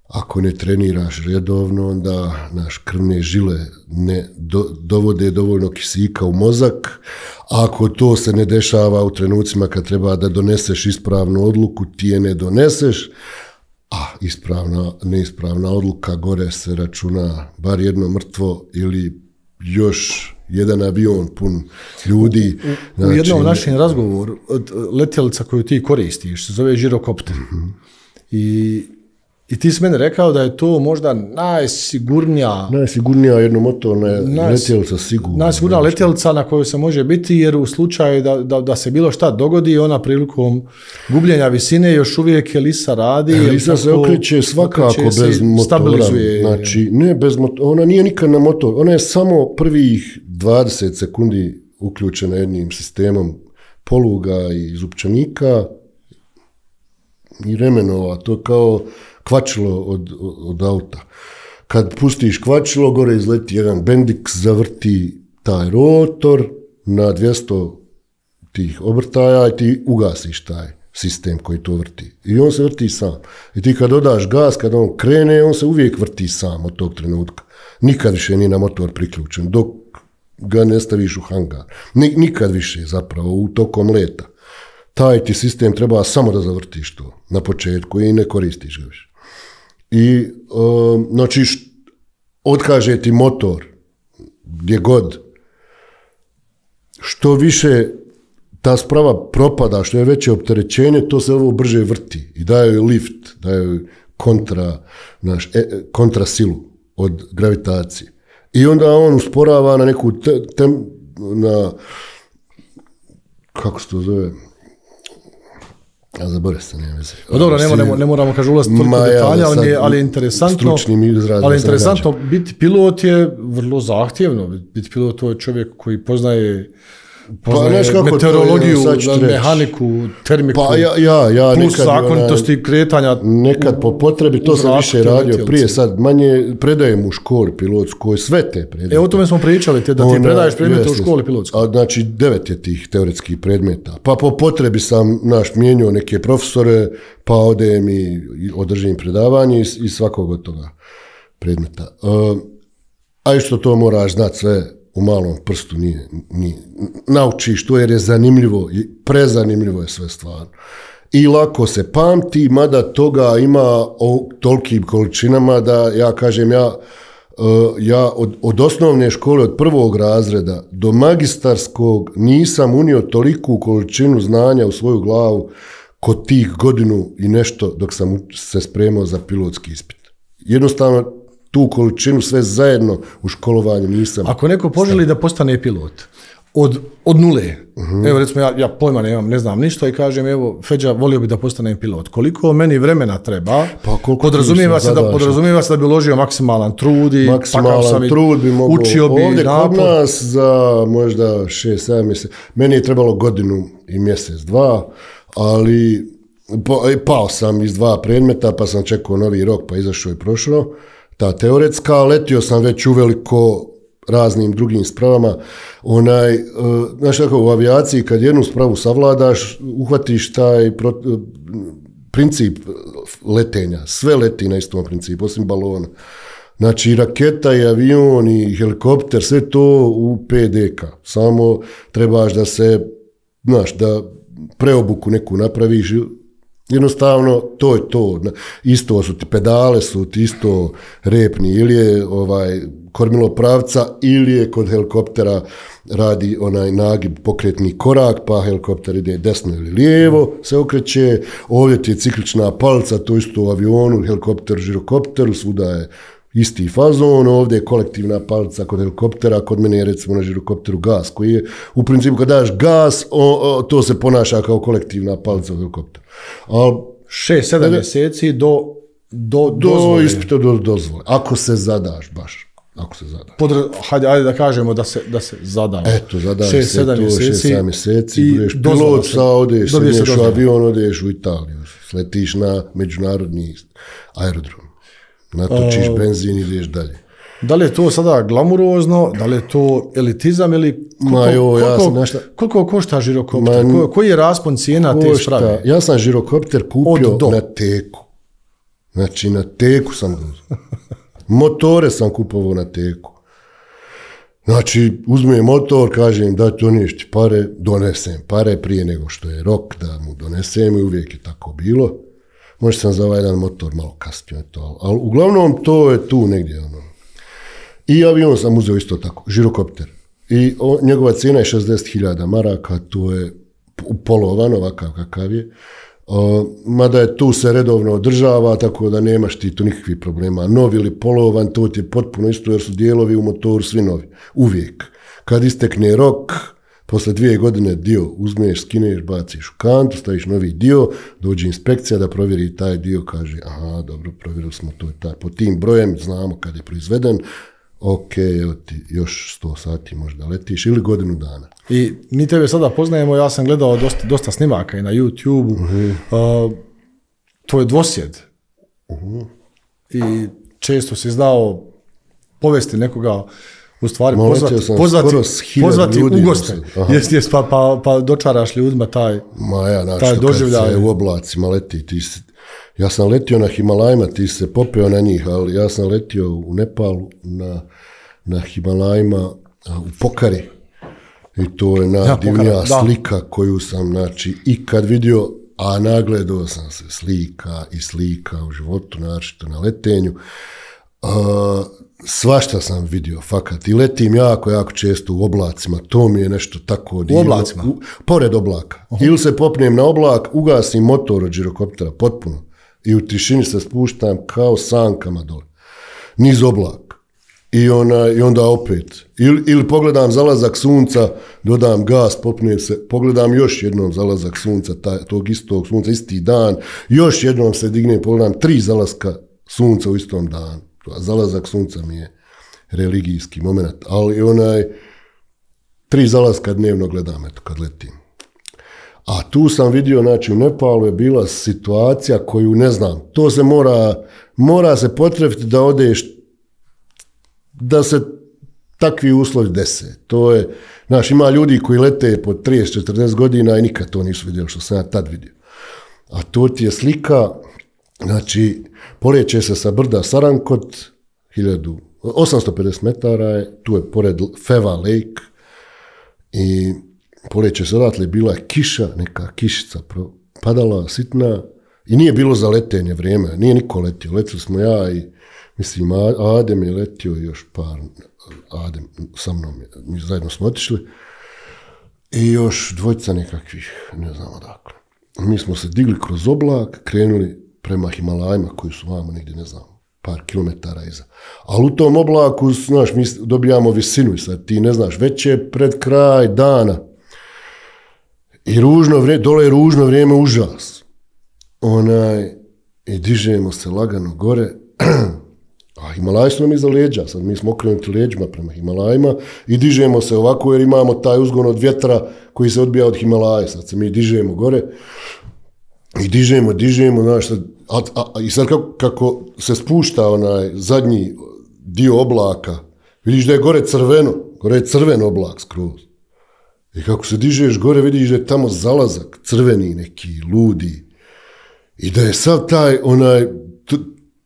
ako ne treniraš redovno, onda naš krvne žile ne do, dovode dovoljno kisika u mozak. A ako to se ne dešava u trenucima kad treba da doneseš ispravnu odluku, ti je ne doneseš, a ispravna, neispravna odluka gore se računa bar jedno mrtvo ili još jedan avion pun ljudi. U, u, znači, u jednom našem razgovoru, letjelica koju ti koristiš se zove žirokopter. Mm-hmm. I I ti si meni rekao da je to možda najsigurnija... Najsigurnija jednomotorna letjelica sigurno. Najsigurnija letjelica na kojoj se može biti, jer u slučaju da, da, da se bilo šta dogodi, ona prilikom gubljenja visine još uvijek Elisa radi. Elisa se okreće svakako okreće bez motora. Stabilizuje. Znači, ne bez motora. Ona nije nikad na motor. Ona je samo prvih dvadeset sekundi uključena jednim sistemom poluga i zupčanika i remenova. To je kao kvačilo od, od auta. Kad pustiš kvačilo, gore izleti jedan bendix, zavrti taj rotor na dvjesto tih obrtaja i ti ugasiš taj sistem koji to vrti. I on se vrti sam. I ti kad dodaš gas, kad on krene, on se uvijek vrti sam od tog trenutka. Nikad više nije na motor priključen, dok ga ne staviš u hangar. Nikad više zapravo, u tokom leta. Taj ti sistem treba samo da zavrtiš to na početku i ne koristiš ga više. I, um, znači, otkaže ti motor, gdje god, što više ta sprava propada, što je veće opterećenje, to se ovo brže vrti i daje joj lift, daje joj kontra, naš, e, kontra silu od gravitacije. I onda on usporava na neku, te, tem, na, kako se to zove, ja zaboravim se, nema veze. No dobro, ne, ne, ne moramo kaže ulaziti toliko detalja, ali je, ali je interesantno, ali interesantno biti pilot je vrlo zahtjevno. Biti pilot to je čovjek koji poznaje, poznaje pa, meteorologiju, mehaniku, termiku, pa, ja, ja, ja, plus zakonitosti ona, kretanja. Nekad po potrebi, to sam više radio prije, sad manje predajem u školi pilotskoj, sve te predmete. E, o tome smo pričali, te, da ti ona, predaješ predmete u školi pilotskoj. A, znači, devet je tih teoretskih predmeta. Pa po potrebi sam naš mijenio neke profesore, pa odem i održim predavanje i, i svakog od toga predmeta. Uh, a išto to moraš znati sve u malom prstu, nije, nije. Naučiš to jer je zanimljivo, prezanimljivo je sve stvarno. I lako se pamti, mada toga ima o tolikim količinama da ja kažem, ja, uh, ja od, od osnovne škole, od prvog razreda do magistarskog nisam unio toliku količinu znanja u svoju glavu kod tih godinu i nešto dok sam se spremao za pilotski ispit. Jednostavno, tu količinu sve zajedno u školovanju nisam. Ako neko poželi da postane pilot od, od nule, uh-huh. evo recimo ja, ja pojma nemam, ne znam ništa i kažem evo Feđa volio bi da postanem pilot. Koliko meni vremena treba? Pa podrazumijeva se da podrazumijeva se da bi uložio maksimalan trud i maksimalan sam trud bi mogao. Učio bi ovdje napor. Kod nas za možda šest sedam mjeseci. Meni je trebalo godinu i mjesec dva, ali pao sam iz dva predmeta pa sam čekao novi rok pa izašao i prošao. Ta teoretska, letio sam već uveliko raznim drugim spravama. Onaj, uh, znaš tako, u avijaciji kad jednu spravu savladaš, uhvatiš taj pro, uh, princip letenja. Sve leti na istom principu, osim balona. Znači, raketa i avion i helikopter, sve to u P D K. Samo trebaš da se, znaš, da preobuku neku napraviš. Jednostavno, to je to. Isto su ti pedale, su ti isto repni. Ili je ovaj, kormilo pravca, ili je kod helikoptera radi onaj nagib pokretni korak, pa helikopter ide desno ili lijevo, se okreće. Ovdje ti je ciklična palica, to isto u avionu, helikopter, žirokopteru, svuda je Isti fazon, ovdje je kolektivna palica kod helikoptera, kod mene je recimo na žirokopteru gas, koji je u principu kad daš gas, o, o, to se ponaša kao kolektivna palica u helikopteru. Al šest sedam mjeseci do, do, do dozvole. ispita do dozvole, ako se zadaš baš. Ako se zadaš. Podra, hajde, ajde da kažemo da se, da se zadaš. Eto, zadaš se to šest sedam mjeseci, budeš dozvola pilot, sa odeš, sedneš u dozvola. avion, odeš u Italiju, sletiš na međunarodni aerodrom, natočiš Uh, benzin i ideš dalje. Da li je to sada glamurozno, da li je to elitizam ili koliko, Ma jo, ja koliko, sam našta... koliko košta žirokopter? Ma, Ko, koji je raspon cijena te sprave? Ja sam žirokopter kupio Od do. na teku. Znači, na teku sam ga. Motore sam kupovao na teku. Znači, uzmem motor, kažem da doniješ ti pare, donesem pare prije nego što je rok da mu donesem i uvijek je tako bilo. Možda sam za ovaj jedan motor malo kasnije to, ali uglavnom to je tu negdje. Ono. I avion sam uzeo isto tako, žirokopter. I o, njegova cijena je šezdeset hiljada maraka, to je polovan, ovakav kakav je. Uh, mada je tu se redovno održava, tako da nemaš ti tu nikakvih problema. Novi ili polovan, to ti je potpuno isto, jer su dijelovi u motoru svi novi. Uvijek. Kad istekne rok, posle dvije godine dio uzmeš, skineš, baciš u kantu, staviš novi dio, dođe inspekcija da provjeri taj dio, kaže, aha, dobro, provjerili smo to i taj. Po tim brojem znamo kad je proizveden, ok, evo ti još sto sati možda letiš ili godinu dana. I mi tebe sada poznajemo, ja sam gledao dosta, dosta snimaka i na YouTube-u. Uh-huh. Uh, to je dvosjed. Uh-huh. I često si znao povesti nekoga, u stvari Ma, pozvati, pozvati, pozvati u goste. Jes, jes, pa, pa, pa dočaraš ljudima taj, Ma ja, znači, taj doživljaj. Kad se u oblacima leti, ti si, ja sam letio na Himalajima, ti se popeo na njih, ali ja sam letio u Nepalu na, na Himalajima u Pokari. I to je najdivnija ja, slika koju sam, znači, ikad vidio, a nagledao sam se slika i slika u životu, naročito na letenju. Uh, svašta sam vidio, fakat. I letim jako, jako često u oblacima. To mi je nešto tako divno. U oblacima? U, pored oblaka. Uh-huh. Ili se popnem na oblak, ugasim motor od žirokoptera, potpuno. I u tišini se spuštam kao sankama dole. Niz oblak. I, ona, i onda opet. Ili, ili pogledam zalazak sunca, dodam gas, popnem se, pogledam još jednom zalazak sunca, taj, tog istog sunca, isti dan, još jednom se dignem, pogledam tri zalaska sunca u istom danu. Zalazak sunca mi je religijski moment, ali onaj tri zalaska dnevno gledam, eto, kad letim. A tu sam vidio, znači u Nepalu je bila situacija koju ne znam, to se mora, mora se potrefiti da odeš, da se takvi uslovi dese. To je, znaš, ima ljudi koji lete po trideset četrdeset godina i nikad to nisu vidjeli što sam ja tad vidio. A to ti je slika, znači, poleće se sa brda Sarankot, hiljadu osamsto pedeset metara je, tu je pored Feva Lake i poleće se odatle, bila je kiša, neka kišica padala sitna i nije bilo za letenje vrijeme, nije niko letio, letili smo ja i mislim Adem je letio i još par, Adem sa mnom, mi zajedno smo otišli i još dvojica nekakvih, ne znam odakle. Mi smo se digli kroz oblak, krenuli prema Himalajima koji su vamo negdje, ne znam, par kilometara iza. Ali u tom oblaku, znaš, mi dobijamo visinu i sad ti ne znaš, već je pred kraj dana. I ružno vrijeme, dole je ružno vrijeme, užas. Onaj, i dižemo se lagano gore, a Himalaji su nam iza leđa, sad mi smo okrenuti leđima prema Himalajima i dižemo se ovako jer imamo taj uzgon od vjetra koji se odbija od Himalaja, sad se mi dižemo gore i dižemo, dižemo, znaš, sad, a, a, i sad kako, kako se spušta onaj zadnji dio oblaka, vidiš da je gore crveno, gore je crven oblak skroz. I kako se dižeš gore, vidiš da je tamo zalazak, crveni neki, ludi. I da je sad taj, onaj, t,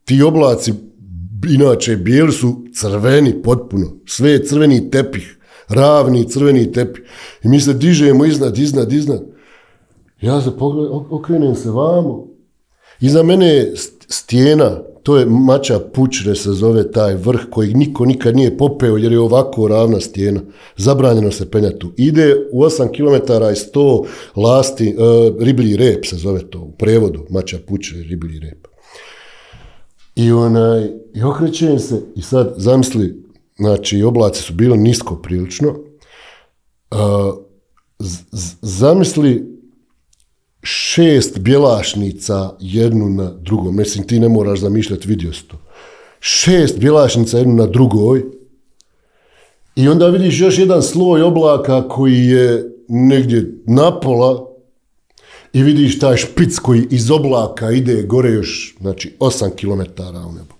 ti oblaci, inače bijeli su crveni potpuno, sve je crveni tepih, ravni crveni tepih. I mi se dižemo iznad, iznad, iznad. Ja se pogledam, okrenem se vamo. Iza mene je stijena, to je Mača Pučre se zove taj vrh koji niko nikad nije popeo jer je ovako ravna stijena. Zabranjeno se penjati tu. Ide u osam kilometara i sto lasti, uh, riblji rep se zove to u prevodu, Mača Pučre, riblji rep. I, onaj, I okrećem se i sad zamisli, znači oblaci su bili nisko prilično, uh, z- z- zamisli šest bjelašnica jednu na drugom, mislim ti ne moraš zamišljati, vidio si to. Šest bjelašnica jednu na drugoj i onda vidiš još jedan sloj oblaka koji je negdje napola i vidiš taj špic koji iz oblaka ide gore još, znači osam kilometara u nebo.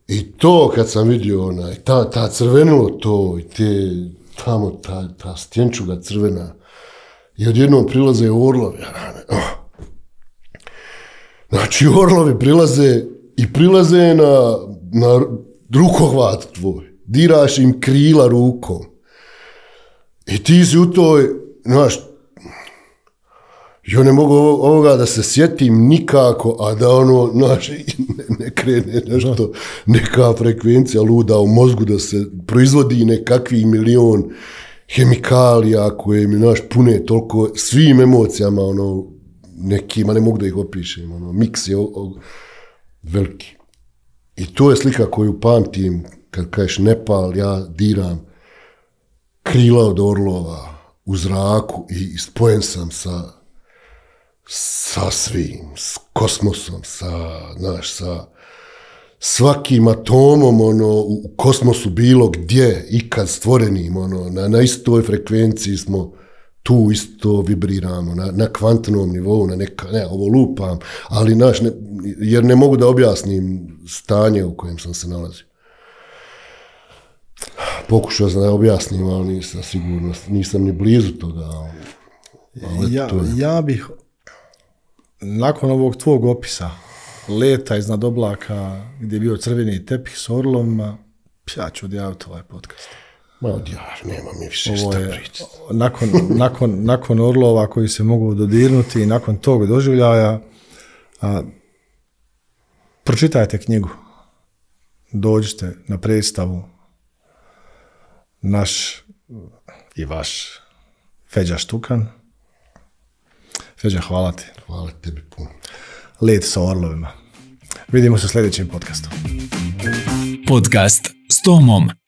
I to kad sam vidio, onaj, ta, ta crvenilo to i te, tamo ta, ta stjenčuga crvena i odjednom prilaze orlovi. Znači orlovi prilaze i prilaze na, na rukohvat tvoj. Diraš im krila rukom. I ti si u toj, znaš, ja ne mogu ovoga da se sjetim nikako, a da ono, znaš, ne, ne krene nešto, neka frekvencija luda u mozgu, da se proizvodi nekakvi milion hemikalija koje mi, znaš, pune toliko svim emocijama, ono, nekima, ne mogu da ih opišem, ono, miks je o, o, veliki. I to je slika koju pamtim, kad kažeš Nepal, ja diram krila od orlova u zraku i spojen sam sa sa svim, s kosmosom, sa, znaš, sa svakim atomom, ono, u kosmosu bilo gdje, ikad stvorenim, ono, na, na istoj frekvenciji smo tu isto vibriramo, na, na kvantnom nivou, na neka, ne, ovo lupam, ali, znaš, ne, jer ne mogu da objasnim stanje u kojem sam se nalazio. Pokušao sam da objasnim, ali nisam sigurno, nisam ni blizu toga. Ali ja, to je... ja bih nakon ovog tvog opisa leta iznad oblaka gdje je bio crveni tepih s orlovima, ja ću odjaviti ovaj podcast. Ma odjav, nema mi više Ovo šta je, pričati. nakon, nakon, nakon orlova koji se mogu dodirnuti i nakon tog doživljaja, a, pročitajte knjigu. Dođite na predstavu. Naš i vaš Feđa Štukan. Feđa, hvala ti. Hvala tebi puno. Let sa orlovima. Vidimo se u sljedećem podcastu. Podcast s Tomom.